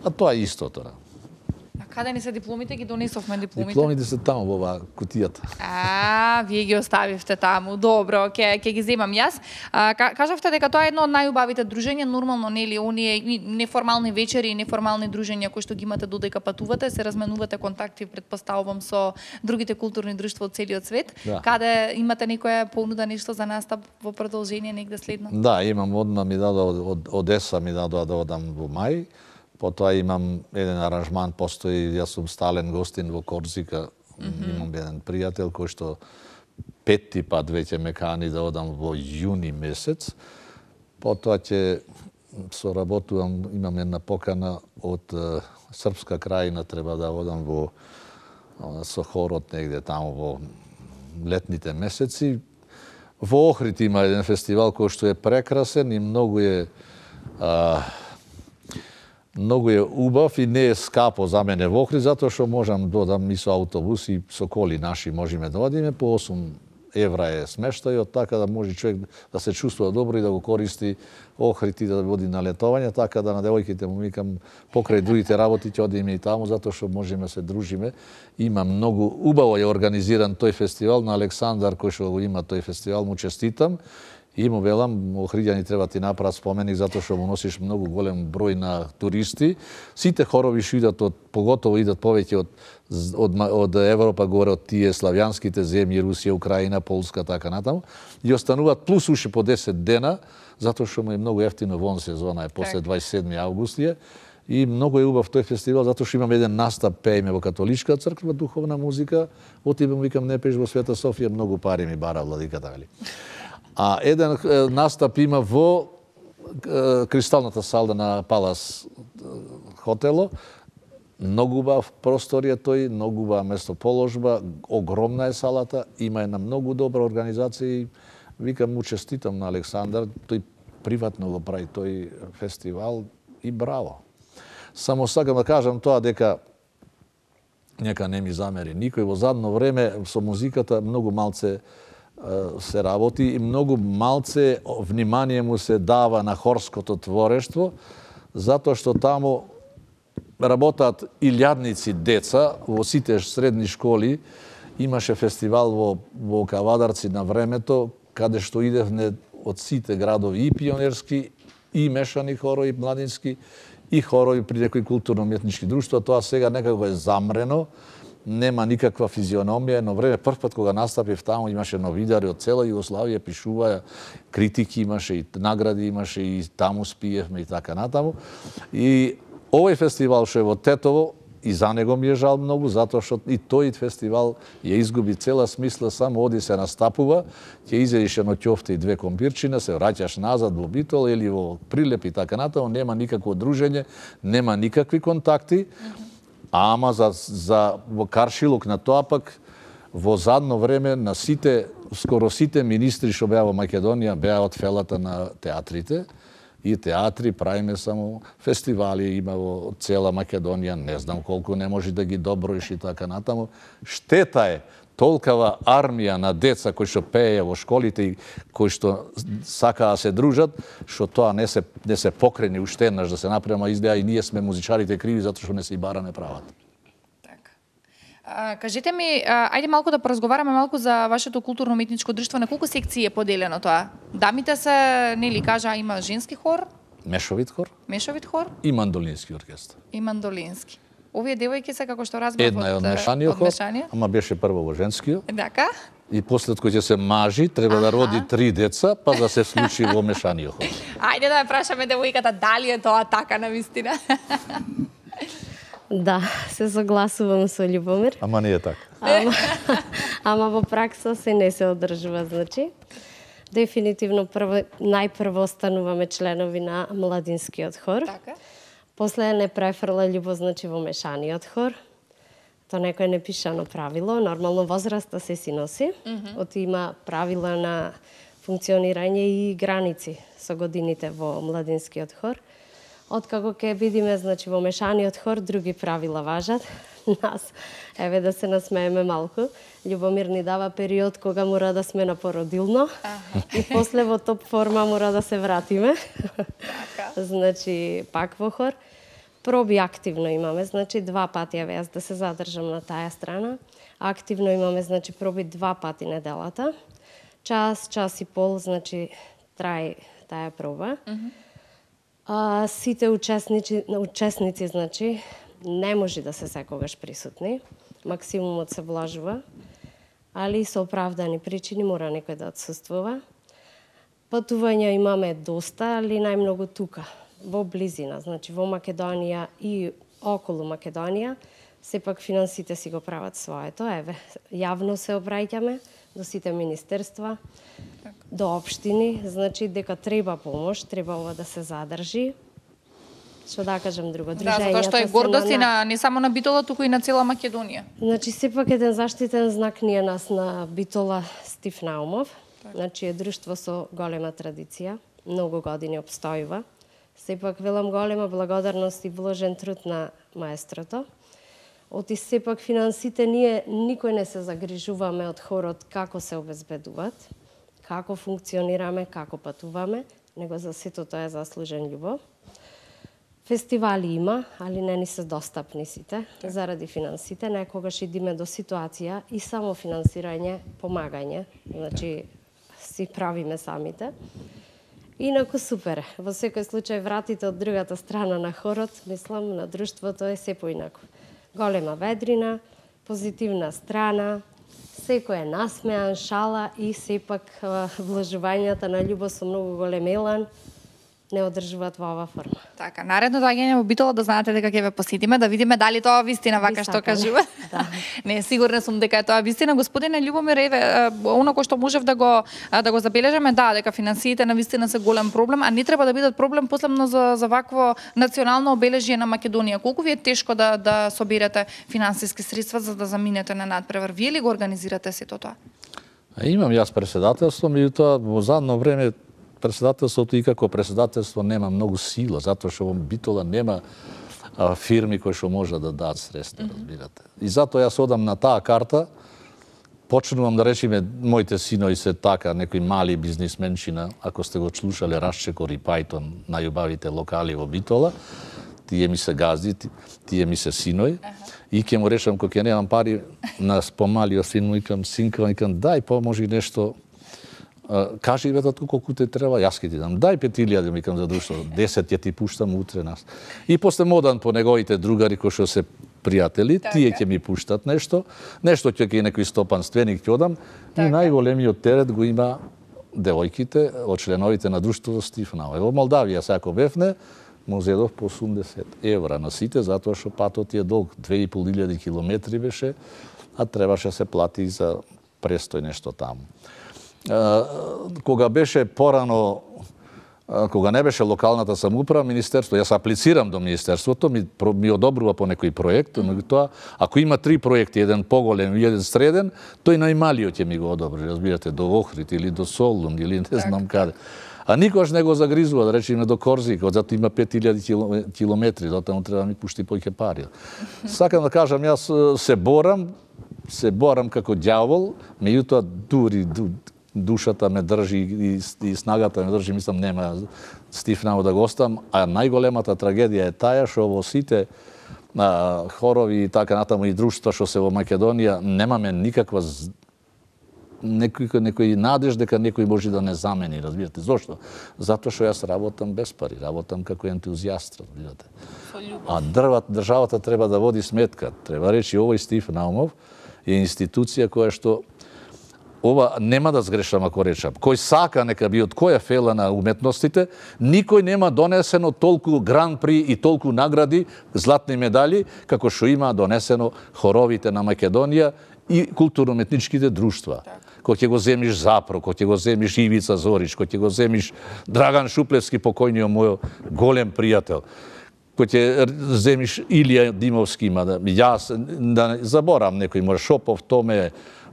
а тоа е истото. А каде ни се дипломите? Ги донесовме дипломите. Дипломите се таму во оваа кутијата. А, вие ги оставивте таму. Добро, ќе ќе ги земам јас. А, кажавте дека тоа е едно од најубавите дружења, нормално нели оние неформални вечери и неформални дружења кои што ги имате додека патувате, се разменувате контакти, предпоставувам, со другите културни друштва од целиот свет. Да. Каде имате некоја понуда, нешто за настап во продолжение негде следно? Да, имам одма ми дадоа од, од Одеса ми дадоа да одам во мај. Потоа имам еден аранжман, постои, јас сум стален гостин во Корзика, mm-hmm. имам еден пријател кој што петти пат веќе ме кани да одам во јуни месец. Потоа ќе соработувам, имам една покана од uh, Српска крајина, треба да одам во uh, со хорот негде таму во летните месеци. Во Охрид има еден фестивал кој што е прекрасен и многу е uh, многу е убав и не е скапо за мене во Охрид, затоа што можам да одам и со автобус и со коли наши можеме да одиме, по осум евра е смештајот, така да може човек да се чувствува добро и да го користи Охрид и да води на летовање, така да на девојките му викам покрај другите работи ќе одиме и таму, затоа што можеме се дружиме. Има многу убаво е организиран тој фестивал, на Александар кој што го има тој фестивал, му честитам. И му велам, Охриѓани треба ти направат споменик затоа што му носиш многу голем број на туристи. Сите хорови што идат од, поготово идат повеќе од, од, од Европа, горе од тие славјанските земји, Русија, Украина, Полска, така натаму. И остануваат плюс уши по десет дена, затоа што му е многу ефтино вон сезона, е после дваесет и седми август е. И многу е убав тој фестивал, затоа што имаме еден настап, пееме во католичка црква, духовна музика. Отидам, викам, не пееш во Света Софија, многу пари ми бара владиката, вели. А еден настап има во Кристалната сала на Палас хотело. Многу убав просторија тој, многу убава местоположба, огромна е салата, има една многу добра организација и викам му честитам на Александар, тој приватно го прави тој фестивал и браво. Само сакам да кажам тоа дека нека не ми замери никој, во задно време со музиката многу малце се работи и многу малце внимание му се дава на хорското творештво, затоа што таму работат илјадници деца во сите средни школи. Имаше фестивал во, во Кавадарци на времето, каде што идевне од сите градови и пионерски, и мешани хорови младински, и хорови при некои културно-уметнички друштва. Тоа сега некако е замрено, нема никаква физиономија, но време прв пат кога настапив таму имаше новинари од цела Југославија, пишуваа, критики имаше и награди имаше и таму спиевме и така натаму. И овој фестивал што е во Тетово, и за него ми е жал многу, затоа што и тој фестивал ја изгуби цела смисла, само оди се настапува, ќе изедиш едно ќофте и две компирчина, се враќаш назад во Битола или во Прилеп и така натаму, нема никакво дружење, нема никакви контакти. Ама за, за во Каршилок на тоа пак во задно време на сите, скоро сите министри што беа во Македонија беа од фелата на театрите и театри, правиме само фестивали, има во цела Македонија, не знам колку не може да ги доброиш и така натаму. Штета е толкава армија на деца кои што пееја во школите и кои што сакаа да се дружат, што тоа не се не се покрени уште еднаш да се направи изгледа и ние сме музичарите криви затоа што не се и бараме правата. Така. А, кажете ми, а, ајде малку да поразговараме малку за вашето културно-уметничко друштво. На колку секции е поделено тоа? Дамите се, нели кажа, има женски хор, Мешовит хор мешовит хор и мандолински оркестар. и мандолински. Овие девојки се, како што разбрав, Една е од мешаниот хор, ама беше прво во женскиот. Така? И после кој ќе се мажи, треба да роди три деца, па да се случи во мешаниот хор. Ајде да ја прашаме девојката дали е тоа така на вистина. Да, се согласувам со Љубомир. Ама не е така. Ама, ама во пракса се не се одржува, значи. Дефинитивно прво, најпрво стануваме членови на младинскиот хор. Така. После не префрла љубов, значи во мешаниот хор. Тоа некој непишано правило, нормално возраста се си носи. Mm -hmm. Оти има правила на функционирање и граници со годините во младинскиот хор. Откако ќе бидиме, значи, во мешаниот хор, други правила важат. Нас, еве да се насмееме малку, Љубомир ни дава период кога мора да сме на породилно и после во топ форма мора да се вратиме. Значи, пак во хор. Проби активно имаме, значи два пати, еве јас да се задржам на таа страна. Активно имаме, значи, проби два пати неделата. Час, час и пол, значи, трај таа проба. Mm -hmm. А, сите учесници, учесници, значи, не може да се секогаш присутни. Максимумот се влажува, али со оправдани причини мора некој да отсуствува. Патувања имаме доста, али најмногу тука, во близина, значи во Македонија и околу Македонија, сепак финансите си го прават своето. Еве, јавно се обраќаме до сите министерства, до општини, значи дека треба помош, треба ова да се задржи. Што да кажам друго, дружењата. Да, затоа што е гордост и на не само на Битола, туку и на цела Македонија. Значи сепак еден заштитен знак ние нас на Битола Стив Наумов. Так. Значи е друштво со голема традиција, многу години обстојува. Сепак велам голема благодарност и вложен труд на маестрото. Оти сепак финансите ние никој не се загрижуваме од хорот како се обезбедуваат, како функционираме, како патуваме, него за сето тоа е заслужен љубов. Фестивали има, али не ни се достапни сите, так. Заради финансите. Некогаш идиме до ситуација и само финансирање, помагање, значи си правиме самите. Инаку супер. Во секој случај вратите од другата страна на хорот, мислам, на друштвото е се поинаку. Голема ведрина, позитивна страна, секој е насмеан, шала и сепак вложувањата на љубов со многу голем елан не одржуваат во оваа форма. Така, наредно доаѓање во Битола да знаете дека ќе ве посетиме, да видиме дали тоа вистина вака што кажува. Да. Не, сигурна сум дека е тоа вистина. Господине Љубомир, еве, оноко што можев да го да го забележаме, да, дека финансиите на вистина се голем проблем, а не треба да бидат проблем последно за за вакво национално обележје на Македонија. Колку ви е тешко да да соберете финансиски средства за да заминете на надпревар? Вие ли го организирате сето тоа? Имам јас председателство, меѓутоа во задно време председателството и како председателство нема многу сила, затоа што во Битола нема а, фирми кои што може да дадат средства, mm -hmm. разбирате. И затоа јас одам на таа карта, почнувам да речеме, моите синови се така, некои мали бизнисменчина, ако сте го слушале Расчекор и Пајтон, најубавите локали во Битола, тие ми се газди, тие ми се синови, uh -huh. и ќе му речам, кога ќе немам пари, на помалиот син му икам, синка, икам, дај, поможи нешто, кажи бе татко колку те треба, јас ќе ти дам. Дај пет илјади, ми кажам за друштво, десет ќе ти пуштам утре нас. И после модан по неговите другари кои што се пријатели, тие ќе ми пуштат нешто, нешто ќе ќе некој стопанственик ќе одам, и најголемиот терет го има девојките од членовите на друштвото Стифнау. Во Молдавија сако бевне, му зедов по осумдесет евра на сите, затоа што патот е долг, две и пол илјади километри беше, а требаше се плати за престој нешто таму. Кога беше порано, кога не беше локалната самоуправа, министерство, јас аплицирам до министерството, ми, ми одобрува по некој проект, но тоа, ако има три проекти, еден поголем и еден среден, тој најмалиот ќе ми го одобри, разбирате, до Охрид или до Солун или не знам каде. А никош не го загризува, да речеме до Корзик, зато има пет илјади километри, затоа треба да ми пушти поќе пари. Сакам да кажам, јас се борам, се борам како ѓавол, меѓутоа дури душата ме држи и, и снагата ме држи, мислам нема Стифнау да го оставам, а најголемата трагедија е таа што во сите а, хорови и така натаму и друштва што се во Македонија немаме никаква некој некој надеж дека некој може да не замени, разбирате. Зошто? Затоа што јас работам без пари, работам како ентузијаст, разбирате. А дрват, државата треба да води сметка. Треба речи овој Стифнаумов е институција која што ова нема да сгрешам ако речам. Кој сака нека би од која фела на уметностите, никој нема донесено толку гран-при и толку награди, златни медали, како што има донесено хоровите на Македонија и културно-уметничките друштва. Кој ќе го земиш Запро, кој ќе го земиш Ивица Зорич, кој ќе го земиш Драган Шуплевски, покојниот мој голем пријател, кој ќе земиш Илија Димовски, има да јас да заборам некој може Шопов, Томе,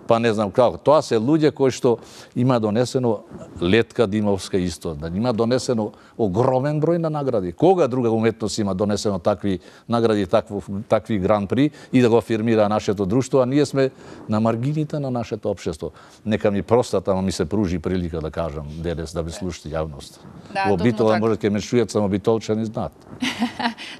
па не знам како. Тоа се луѓе кои што има донесено Летка Димовска исто, да има донесено огромен број на награди. Кога друга уметност има донесено такви награди, такви, такви гран-при и да го афирмира нашето друштво, а ние сме на маргините на нашето општество. Нека ми простат, ама ми се пружи прилика да кажам денес да ви слушате јавност. Да, во Битола може ќе ме чујат само битолчани знаат.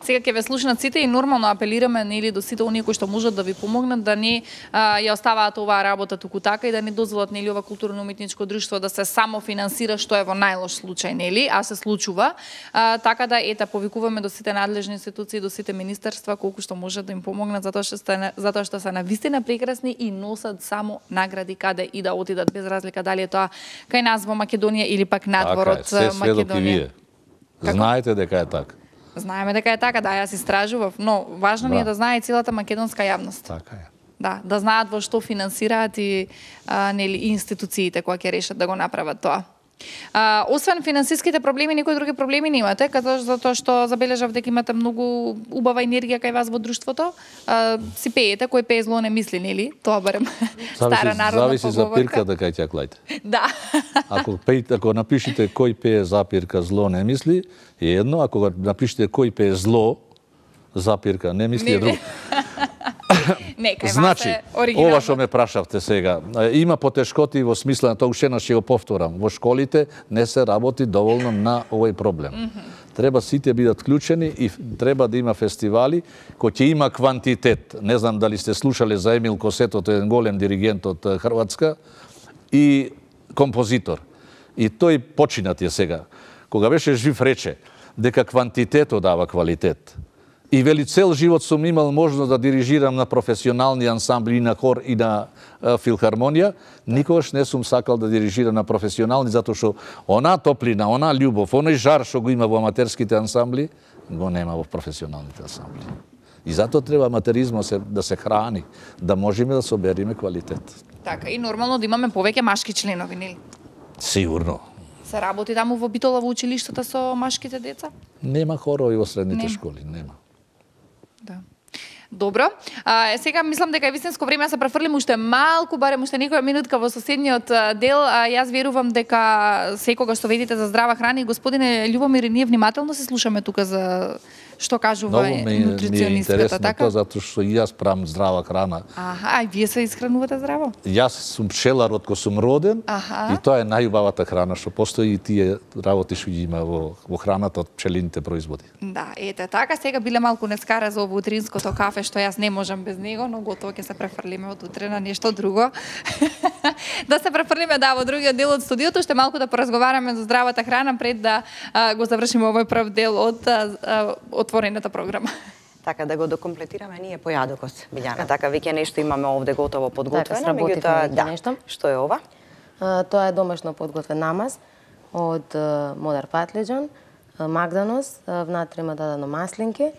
Сега ќе ве слушнат сите и нормално апелираме нели до сите оние кои што можат да ви помогнат да не а, ја оставаат оваа работа туку така и да не дозволат нели ова културно-уметничко друштво да се само финансира, што е во најлош случај, нели, а се случува. А, така да ета повикуваме до сите надлежни институции, до сите министерства колку што можат да им помогнат, затоа што сте, затоа што се навистина прекрасни и носат само награди каде и да отидат, без разлика дали е тоа кај нас во Македонија или пак надвор од Македонија. Знаете дека е така. Знаеме дека е така, да, јас истражував, но важно ни е да знае целата македонска јавност. Така е. Да, да знаат во што финансираат и а, нели институциите кои ќе решат да го направат тоа. А, освен финансиските проблеми, некои други проблеми не имате, като затоа што забележав дека имате многу убава енергија кај вас во друштвото. А, си пеете, кој пее зло не мисли, нели? Тоа барем стара народна зависи за пирката кај ќе клајте. Да. Ако пеете, ако напишете кој пее запирка зло не мисли, е едно, ако напишете кој пее зло запирка не мисли е друго. Не, кај значи, вас е оригинално. ова што ме прашавте сега, има потешкоти во смисла на тоа, уште еднаш ќе го повторам. Во школите не се работи доволно на овој проблем. Mm -hmm. Треба сите бидат вклучени и треба да има фестивали кои ќе има квантитет. Не знам дали сте слушале за Емил Косетото, еден голем диригент од Хрватска и композитор. И тој починат е сега. Кога беше жив рече дека квантитетот дава квалитет. И вели цел живот сум имал можност да дирижирам на професионални ансамбли, и на хор и на а, филхармонија, никогаш не сум сакал да дирижирам на професионални, затоа што она топлина, она љубов, оној жар што го има во аматерските ансамбли, го нема во професионалните ансамбли. И затоа треба аматеризмот се, да се храни, да можеме да собериме квалитет. Така, и нормално да имаме повеќе машки членови, нели? Сигурно. Се работи таму во Битола во училиштата со машките деца? Нема хорови во средните нема. школи, нема. Да. Добро. А, сега мислам дека е вистинско време да се префрлим уште малку, барем уште некоја минутка во соседниот дел. А, јас верувам дека секогаш што ведите за здрава храна и господине Љубомир, ние внимателно се слушаме тука за што кажува нутриционистката, така? Тоа затоа што и јас правам здрава храна. Аха, а вие се исхранувате здраво? Јас сум пчелар од кога сум роден. Аха. И тоа е најубавата храна што постои и тие работи што ги има во, во храната од пчелините производи. Да, ете така, сега биле малку не скара за ово утринското кафе што јас не можам без него, но готово ќе се префрлиме од утре на нешто друго. Да се префрлиме да во другиот дел од студиото, уште малку да поразговараме за здравата храна пред да а, го завршиме овој прв дел од а, а, отворената програма. Така да го докомплетираме ние појадокот, Билјана. Така веќе нешто имаме овде готово подготвено, така, меѓутоа да. Нешто. Што е ова? А, тоа е домашно подготвен намаз од а, модар патлиџан, магданос, внатре има дадено маслинки.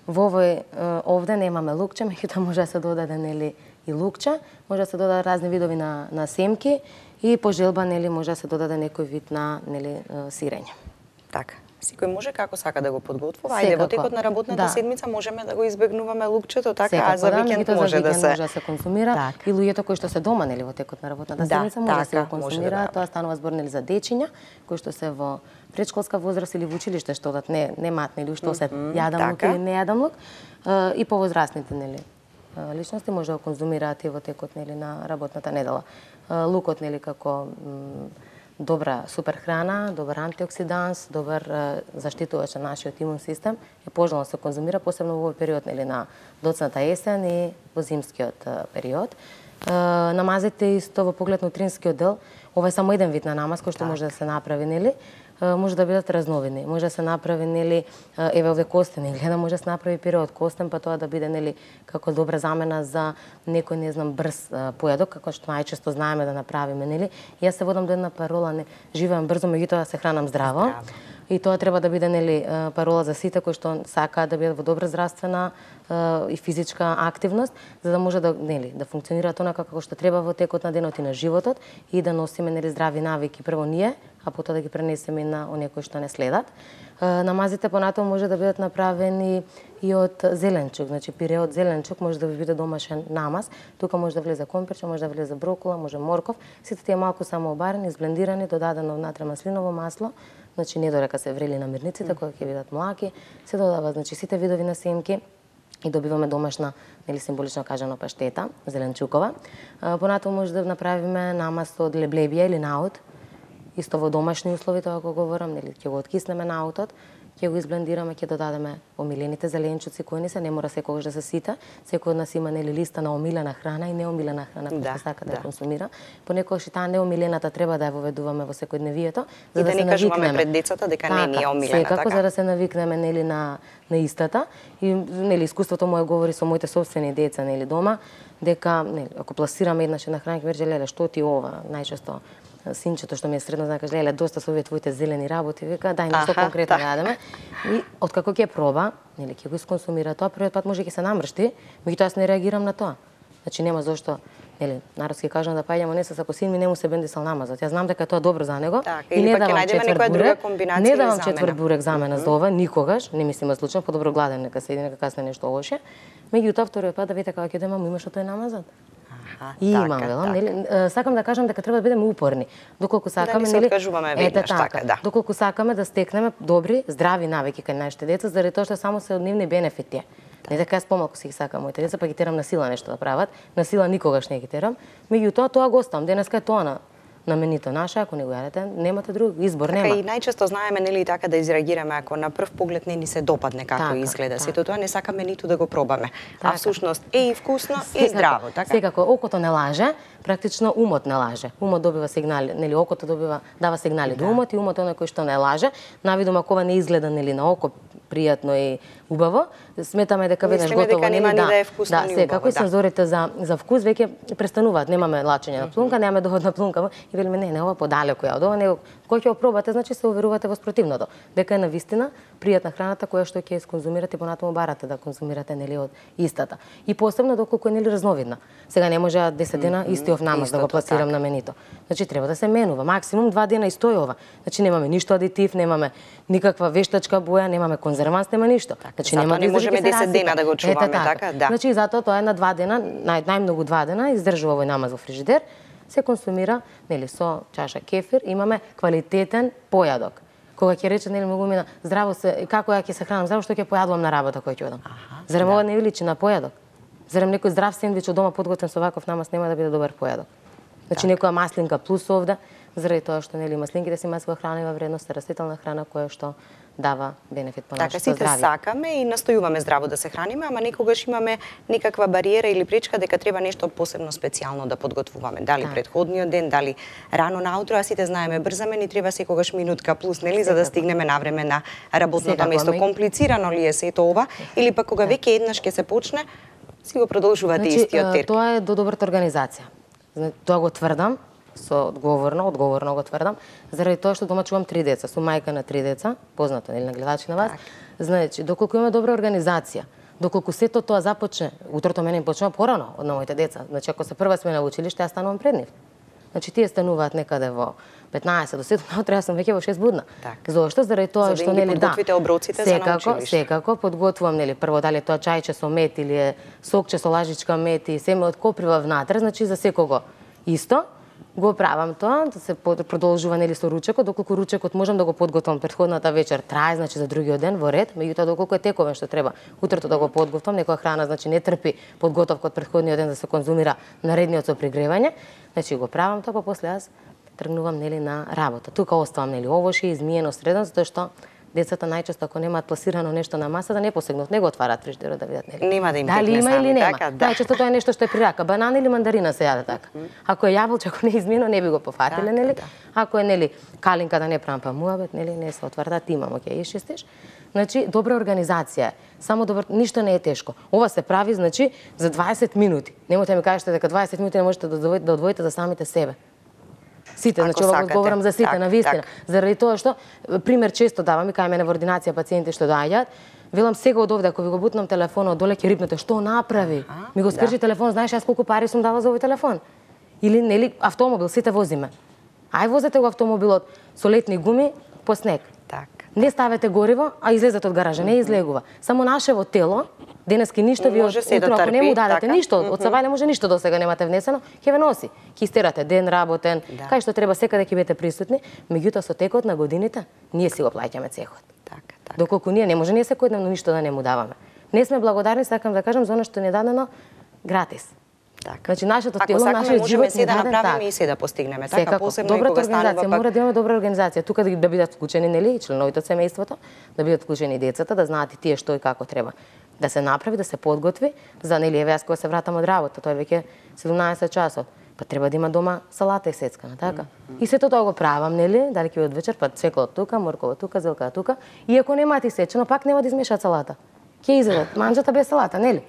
Во овој овде немаме лукче, меѓутоа може да се додаде нели и лукче, може да се додадат разни видови на на семки и по желба нели може да се додаде некој вид на нели сирење. Така. Секој може како сака да го подготвува. Ајде во текот на работната да. седмица можеме да го избегнуваме лукчето, така, секако, а за викенд да, може да се може да се консумира так. И луѓето кои што се дома нели во текот на работната да, седмица може така, да се го консумира, да, тоа станува збор нели за дечиња кои што се во предшколска возраст или во училиште што одат не не матни или уште осет mm -hmm, јадам лук или не јадам лук, и повозрастните нели личности може да го конзумираат и во текот нели на работната недела. Лукот нели како добра супер храна, добар антиоксиданс, добар заштитувач на нашиот имун систем, е пожелно да се конзумира посебно во овој период нели на доцната есен и во зимскиот период. Намазите исто во поглед на утринскиот дел, ова е само еден вид на намаз кој што може да се направи нели. Може да бидат разновидни. Може да се направи нели еве овде костен или гледам може да се направи пире од костен, па тоа да биде нели како добра замена за некој не знам брз појадок, како што најчесто знаеме да направиме нели. Јас се водам до една парола не живеам брзо, меѓутоа се хранам здраво. здраво. И тоа треба да биде нели парола за сите кои што сакаат да бидат во добра здравствена и физичка активност, за да може да нели да функционираат онака како што треба во текот на денот и на животот и да носиме нели здрави навики прво ние, а потоа да ги пренесеме на оние кои што не следат. Намазите понатаму може да бидат направени и од зеленчук, значи пире од зеленчук може да ви биде домашен намаз. Тука може да влезе компирче, може да влезе брокола, може морков. Сите тие малку само обарени, изблендирани, додадено внатре маслиново масло, значи не додека се врели намирниците кои ќе бидат млаки, се додава значи сите видови на семки и добиваме домашна, нели символично кажано паштета, зеленчукова. Понатаму може да направиме намаз од леблебија или наут, исто во домашни услови, тоа го говорам, нели ќе го откиснеме наутот, ќе го изблендираме, ќе додадеме омилените зеленчуци кои не се, не мора секогаш да се сита. Секој од нас има нели листа на омилена храна и неомилена храна која да, сака да, да ја консумира. Понекогаш и таа неомилената треба да ја воведуваме во секојдневието, за и да, да се не кажуваме навикнеме пред децата дека така, не е омилена, секако, така. За да се навикнеме нели на на истата и нели искуството мое говори со моите собствени деца нели дома дека нели ако пласираме еднаш една храна ќе рече леле што ти ова, најчесто синчето што ми е средно знае каже леле доста со овие твоите зелени работи, вика дај нешто конкретно да јадеме. И откако ќе проба, нели ќе го исконсумира тоа, првиот пат може ќе се намршти, меѓутоа јас не реагирам на тоа. Значи нема зошто, нели, народски кажам да паѓамо не се ако син ми не му се бендисал намазот. Јас знам дека тоа добро за него так, и не давам четврт бурек, не давам четврт бурек замена за ова никогаш, не мислам случајно, подобро гладен нека седи, нека касне нешто лоше. Меѓутоа вториот пат да видите како ќе дојдем, имаш тој намазот. И така, имам, велам, така. нели, сакам да кажам дека треба да бидеме упорни. Доколку сакаме, да нели, откажуваме веднаш, така, така, да. Доколку сакаме да стекнеме добри, здрави навики кај нашите деца, заради тоа што само се од нивни бенефити. Да. Не дека јас помалку си ги сакам моите деца, па ги терам на сила нешто да прават. На сила никогаш не ги терам. Меѓутоа тоа го оставам. Денеска е тоа на на менито наше, ако не го јадете, немате друг избор, така, нема. И најчесто знаеме нели така да изреагираме ако на прв поглед не ни се допадне како така, изгледа. така. Сето тоа не сакаме ниту да го пробаме. Така. А всушност е и вкусно секако, и здраво, така. Секако окото не лаже, практично умот не лаже. Умот добива сигнали, нели окото добива дава сигнали да. До умот и умот е оној кој што не лаже. Навидом ако ова не изгледа нели на око пријатно и убаво, сметаме дека веднаш готово дека нема нели ни да е вкусно да, ни секако убаво, и сензорите за за вкус веќе престануваат. Немаме лачење на плунка, немаме доволна плунка и велиме не, не ова подалеку ја од ова, него кој ќе го пробате, значи се уверувате во спротивното, дека е навистина пријатна храната која што ќе исконзумирате и понатаму барате да конзумирате нели од истата. И посебно доколку е нели разновидна. Сега не може десет дена истиот намаз да го пласирам на менито. Значи треба да се менува, максимум два дена истојова. Значи немаме ништо адитив, немаме никаква вештачка боја, немаме конзерванс, нема ништо. Значи нема не можеме десет дена да го чуваме, Ете, така. така, да. Значи затоа тоа е на два дена, нај, најмногу два дена издржува овој намаз во фрижидер, се консумира нели со чаша кефир, имаме квалитетен појадок. Кога ќе рече нели многу мина здраво се, како ја ќе се хранам, здраво што ќе појадувам на работа кој ќе одам. Зарем ова не ви личи на појадок? Зарем некој здрав сендвич од дома подготвен со ваков намаз нема да биде добар појадок? Значи некоја маслинка плюс овде, заради тоа што нели маслинките се маслова храна и вредност, растителна храна која што дава бенефит по така, нашето сите здравје. сакаме и настојуваме здраво да се храниме, ама некогаш имаме некаква бариера или пречка дека треба нешто посебно специјално да подготвуваме. Дали Так. претходниот ден, дали рано наутро, а сите знаеме брзаме, ни треба секогаш минутка плюс, нели, за да стигнеме навреме на работното Секако, место. ме- Комплицирано ли е сето ова или пак кога веќе еднаш ќе се почне, си го продолжувате Значи, истиот а, терк? тоа е до добрата организација. Зна- Тоа го тврдам, со одговорно, одговорно го тврдам, заради тоа што дома чувам три деца, сум мајка на три деца, познато нели на гледачи на вас. Значи, доколку имаме добра организација, доколку сето тоа започне, утрото мене им почнува порано од на моите деца. Значи, ако се прва смена во училиште, јас станувам пред нив. Значи, тие стануваат некаде во петнаесет до седум наутро, јас сум веќе во шест будна. Така. Зошто? Заради тоа За да што им ги нели да. подготвите оброците за на секако, училиште. секако подготвувам нели прво дали е тоа чајче со мед или е сокче со лажичка мед и семе од коприва внатре, значи за секого исто. Го правам тоа, да се под- продолжува нели со ручекот, доколку ручекот можам да го подготвам претходната вечер, трае значи за другиот ден во ред, меѓутоа доколку е тековен што треба утрото да го подготвам, некоја храна значи не трпи подготовка од претходниот ден да се конзумира наредниот со пригревање, значи го правам тоа, па после јас тргнувам нели на работа. Тука оставам нели овошје измиено средно, затоа што децата најчесто ако немаат пласирано нешто на масата, не посегнат, не го отварат фриждерот да видат нели. Нема да им Дали текне има сами, или нема. така, да. Најчесто тоа е нешто што е при рака, банана или мандарина се јаде така. Ако е јаболче, ако не е измиено, не би го пофатиле, Така, нели? да. Ако е нели калинка да не правам па муабет, нели не се отвара да ти имамо ќе ишчистиш. Значи добра организација. Само добро, ништо не е тешко. Ова се прави значи за дваесет минути. Немојте ми кажете дека дваесет минути не можете да одвоите, да одвоите за самите себе. Сите, Ако значи ова го сакате. говорам за сите, Так, на вистина. так. Заради тоа што пример често давам и кај мене во ординација пациенти што доаѓаат, велам сега од овде ако ви го бутнам телефонот доле ќе рипнете што направи. А, Ми го да. скржи телефон, знаеш јас колку пари сум дала за овој телефон. Или нели автомобил сите возиме. Ај возете го автомобилот со летни гуми по снег. Така. Не ставете гориво, а излезете од гаража, не излегува. Само нашево тело, денески ништо ви Може се да утро, ако не трпи, му дадете така. ништо, од сабајле може ништо до сега немате внесено, ќе ве носи. Ќе истерате ден работен, Да. кај што треба секаде ќе бидете присутни, меѓутоа со текот на годините ние си го плаќаме цехот. Така, така. Доколку ние не може ние секојдневно ништо да не му даваме. Не сме благодарни, сакам да кажам, за оно што ни е дадено гратис. Така. Значи нашето Ако тело, сакаме, нашиот можеме живот се ни да даден направиме така. и се да постигнеме. Така, Секако. посебно и Добрата кога станува организација, пак... мора да имаме добра организација. Тука да, да бидат вклучени, нели, и членовите од семејството, да бидат вклучени децата, да знаат и тие што и како треба да се направи, да се подготви, за нели еве јас кога се вратам од работа, тоа е веќе седумнаесет часот. Па треба да има дома салата и сецкана, така? И сето тоа го правам, нели, дали ќе од вечер, па цвекло тука, моркова тука, зелка тука, и ако немаат исечено, пак нема да измешаат салата. Ќе изедат манџата без салата, нели?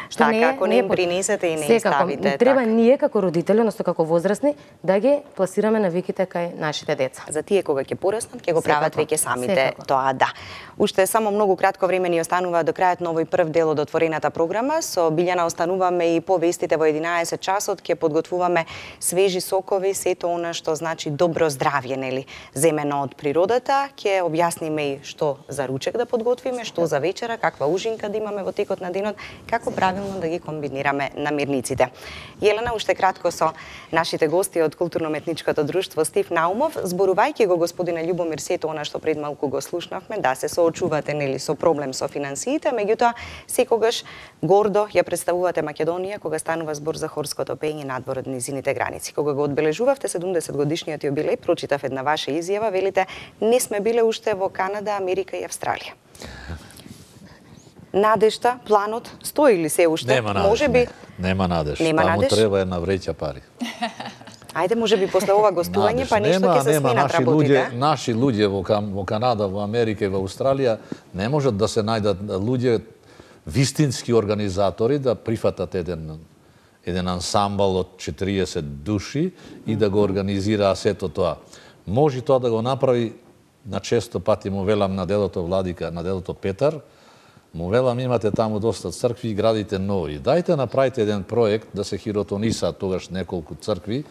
Така, не е- ако не им е по- принесете и не им Секако, ставите, треба така. ние како родители, односно како возрастни, да ги пласираме навиките кај нашите деца. За тие кога ќе пораснат, ќе го прават Секако, веќе самите секако. тоа, да. Уште само многу кратко време ни останува до крајот на овој прв дел од отворената програма. Со Билјана остануваме и по вестите во единаесет часот, ќе подготвуваме свежи сокови, сето она што значи добро здравје, нели, земено од природата. Ќе објасниме и што за ручек да подготвиме, што за вечера, каква ужинка да имаме во текот на денот, како правилно да ги комбинираме намирниците. Јелена, уште кратко со нашите гости од Културно-метничкото друштво Стив Наумов, зборувајќи го господине Љубомир сето она што пред малку го слушнавме, да се соочувате нели со проблем со финансиите, меѓутоа секогаш гордо ја представувате Македонија кога станува збор за хорското пење надвор од низините граници. Кога го одбележувавте седумдесет годишниот јубилеј, прочитав една ваша изјава, велите не сме биле уште во Канада, Америка и Австралија. Надежта, планот стои ли се уште? Нема надеж. Може би не. Нема надеж. Нема Таму надеж? треба една вреќа пари. Ајде, може би после ова гостување Надеж. па нешто Нема- ќе се нема, сменат наши работите. луѓе, наши луѓе во, Кам- во Канада, во Америка и во Австралија не можат да се најдат луѓе вистински организатори да прифатат еден еден ансамбл од четириесет души и да го организира сето тоа. Може тоа да го направи, на често пати му велам на делото Владика, на делото Петар, му велам имате таму доста цркви и градите нови. Дајте направите еден проект да се хиротонисаат тогаш неколку цркви,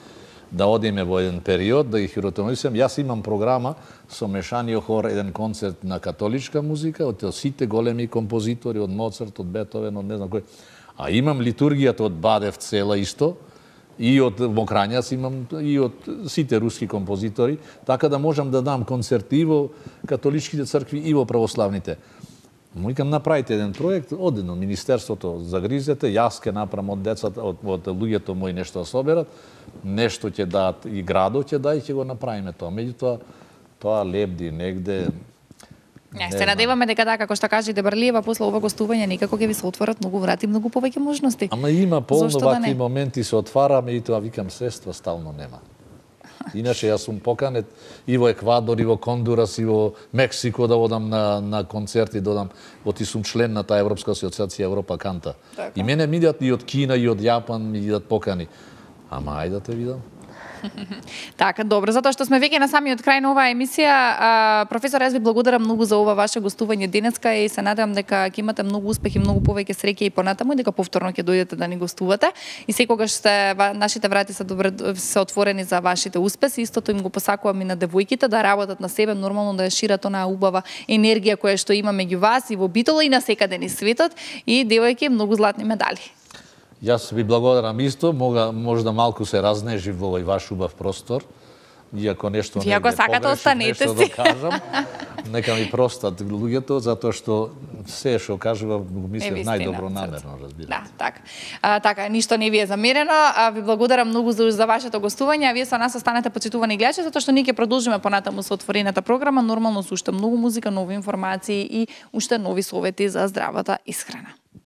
да одиме во еден период, да ги хиротонисам. Јас имам програма со мешаниот хор, еден концерт на католичка музика, од сите големи композитори, од Моцарт, од Бетовен, од не знам кој. А имам литургијата од Бадев цела исто, и од Мокрањац имам, и од сите руски композитори, така да можам да дам концерти и во католичките цркви и во православните. Му викам, направите еден проект, одено Министерството загризете, јас ке направам од децата, од, од луѓето мои нешто да соберат, нешто ќе дадат и градот ќе да и ќе го направиме тоа. Меѓутоа, тоа лебди негде, Не, се надеваме дека така како што кажа Дебарлиева, после ова гостување некако ќе ви се отворат многу врати, многу повеќе можности. Ама има полно Зошто да вакви не? моменти се отвараме и тоа викам средства стално нема. Иначе јас сум поканет и во Еквадор, и во Кондурас, и во Мексико да одам на, на концерти, да одам, во ти сум член на таа Европска асоциација Европа Канта. Така. И мене ми идат и од Кина, и од Јапан, ми идат покани. Ама ајде да те видам. Така, добро, затоа што сме веќе на самиот крај на оваа емисија. А, професор, јас ви благодарам многу за ова ваше гостување денеска и се надевам дека ќе имате многу успех и многу повеќе среќа и понатаму и дека повторно ќе дојдете да ни гостувате. И секогаш сте, нашите врати се добре се отворени за вашите успеси. Истото им го посакувам и на девојките да работат на себе, нормално да ја шират онаа убава енергија која што има меѓу вас и во Битола и на секаде низ светот. И девојки, многу златни медали. Јас ви благодарам исто, мога можда малку се разнежи во овој ваш убав простор. Иако нешто Вие ако сакате останете си. Да кажам, нека ми простат луѓето затоа што се што кажувам го мислев најдобро намерно, разбирате. Да, така. А, така, ништо не ви е замерено. А, ви благодарам многу за, за вашето гостување. А вие со нас останете почитувани гледачи затоа што ние ќе продолжиме понатаму со отворената програма, нормално со уште многу музика, нови информации и уште нови совети за здравата исхрана.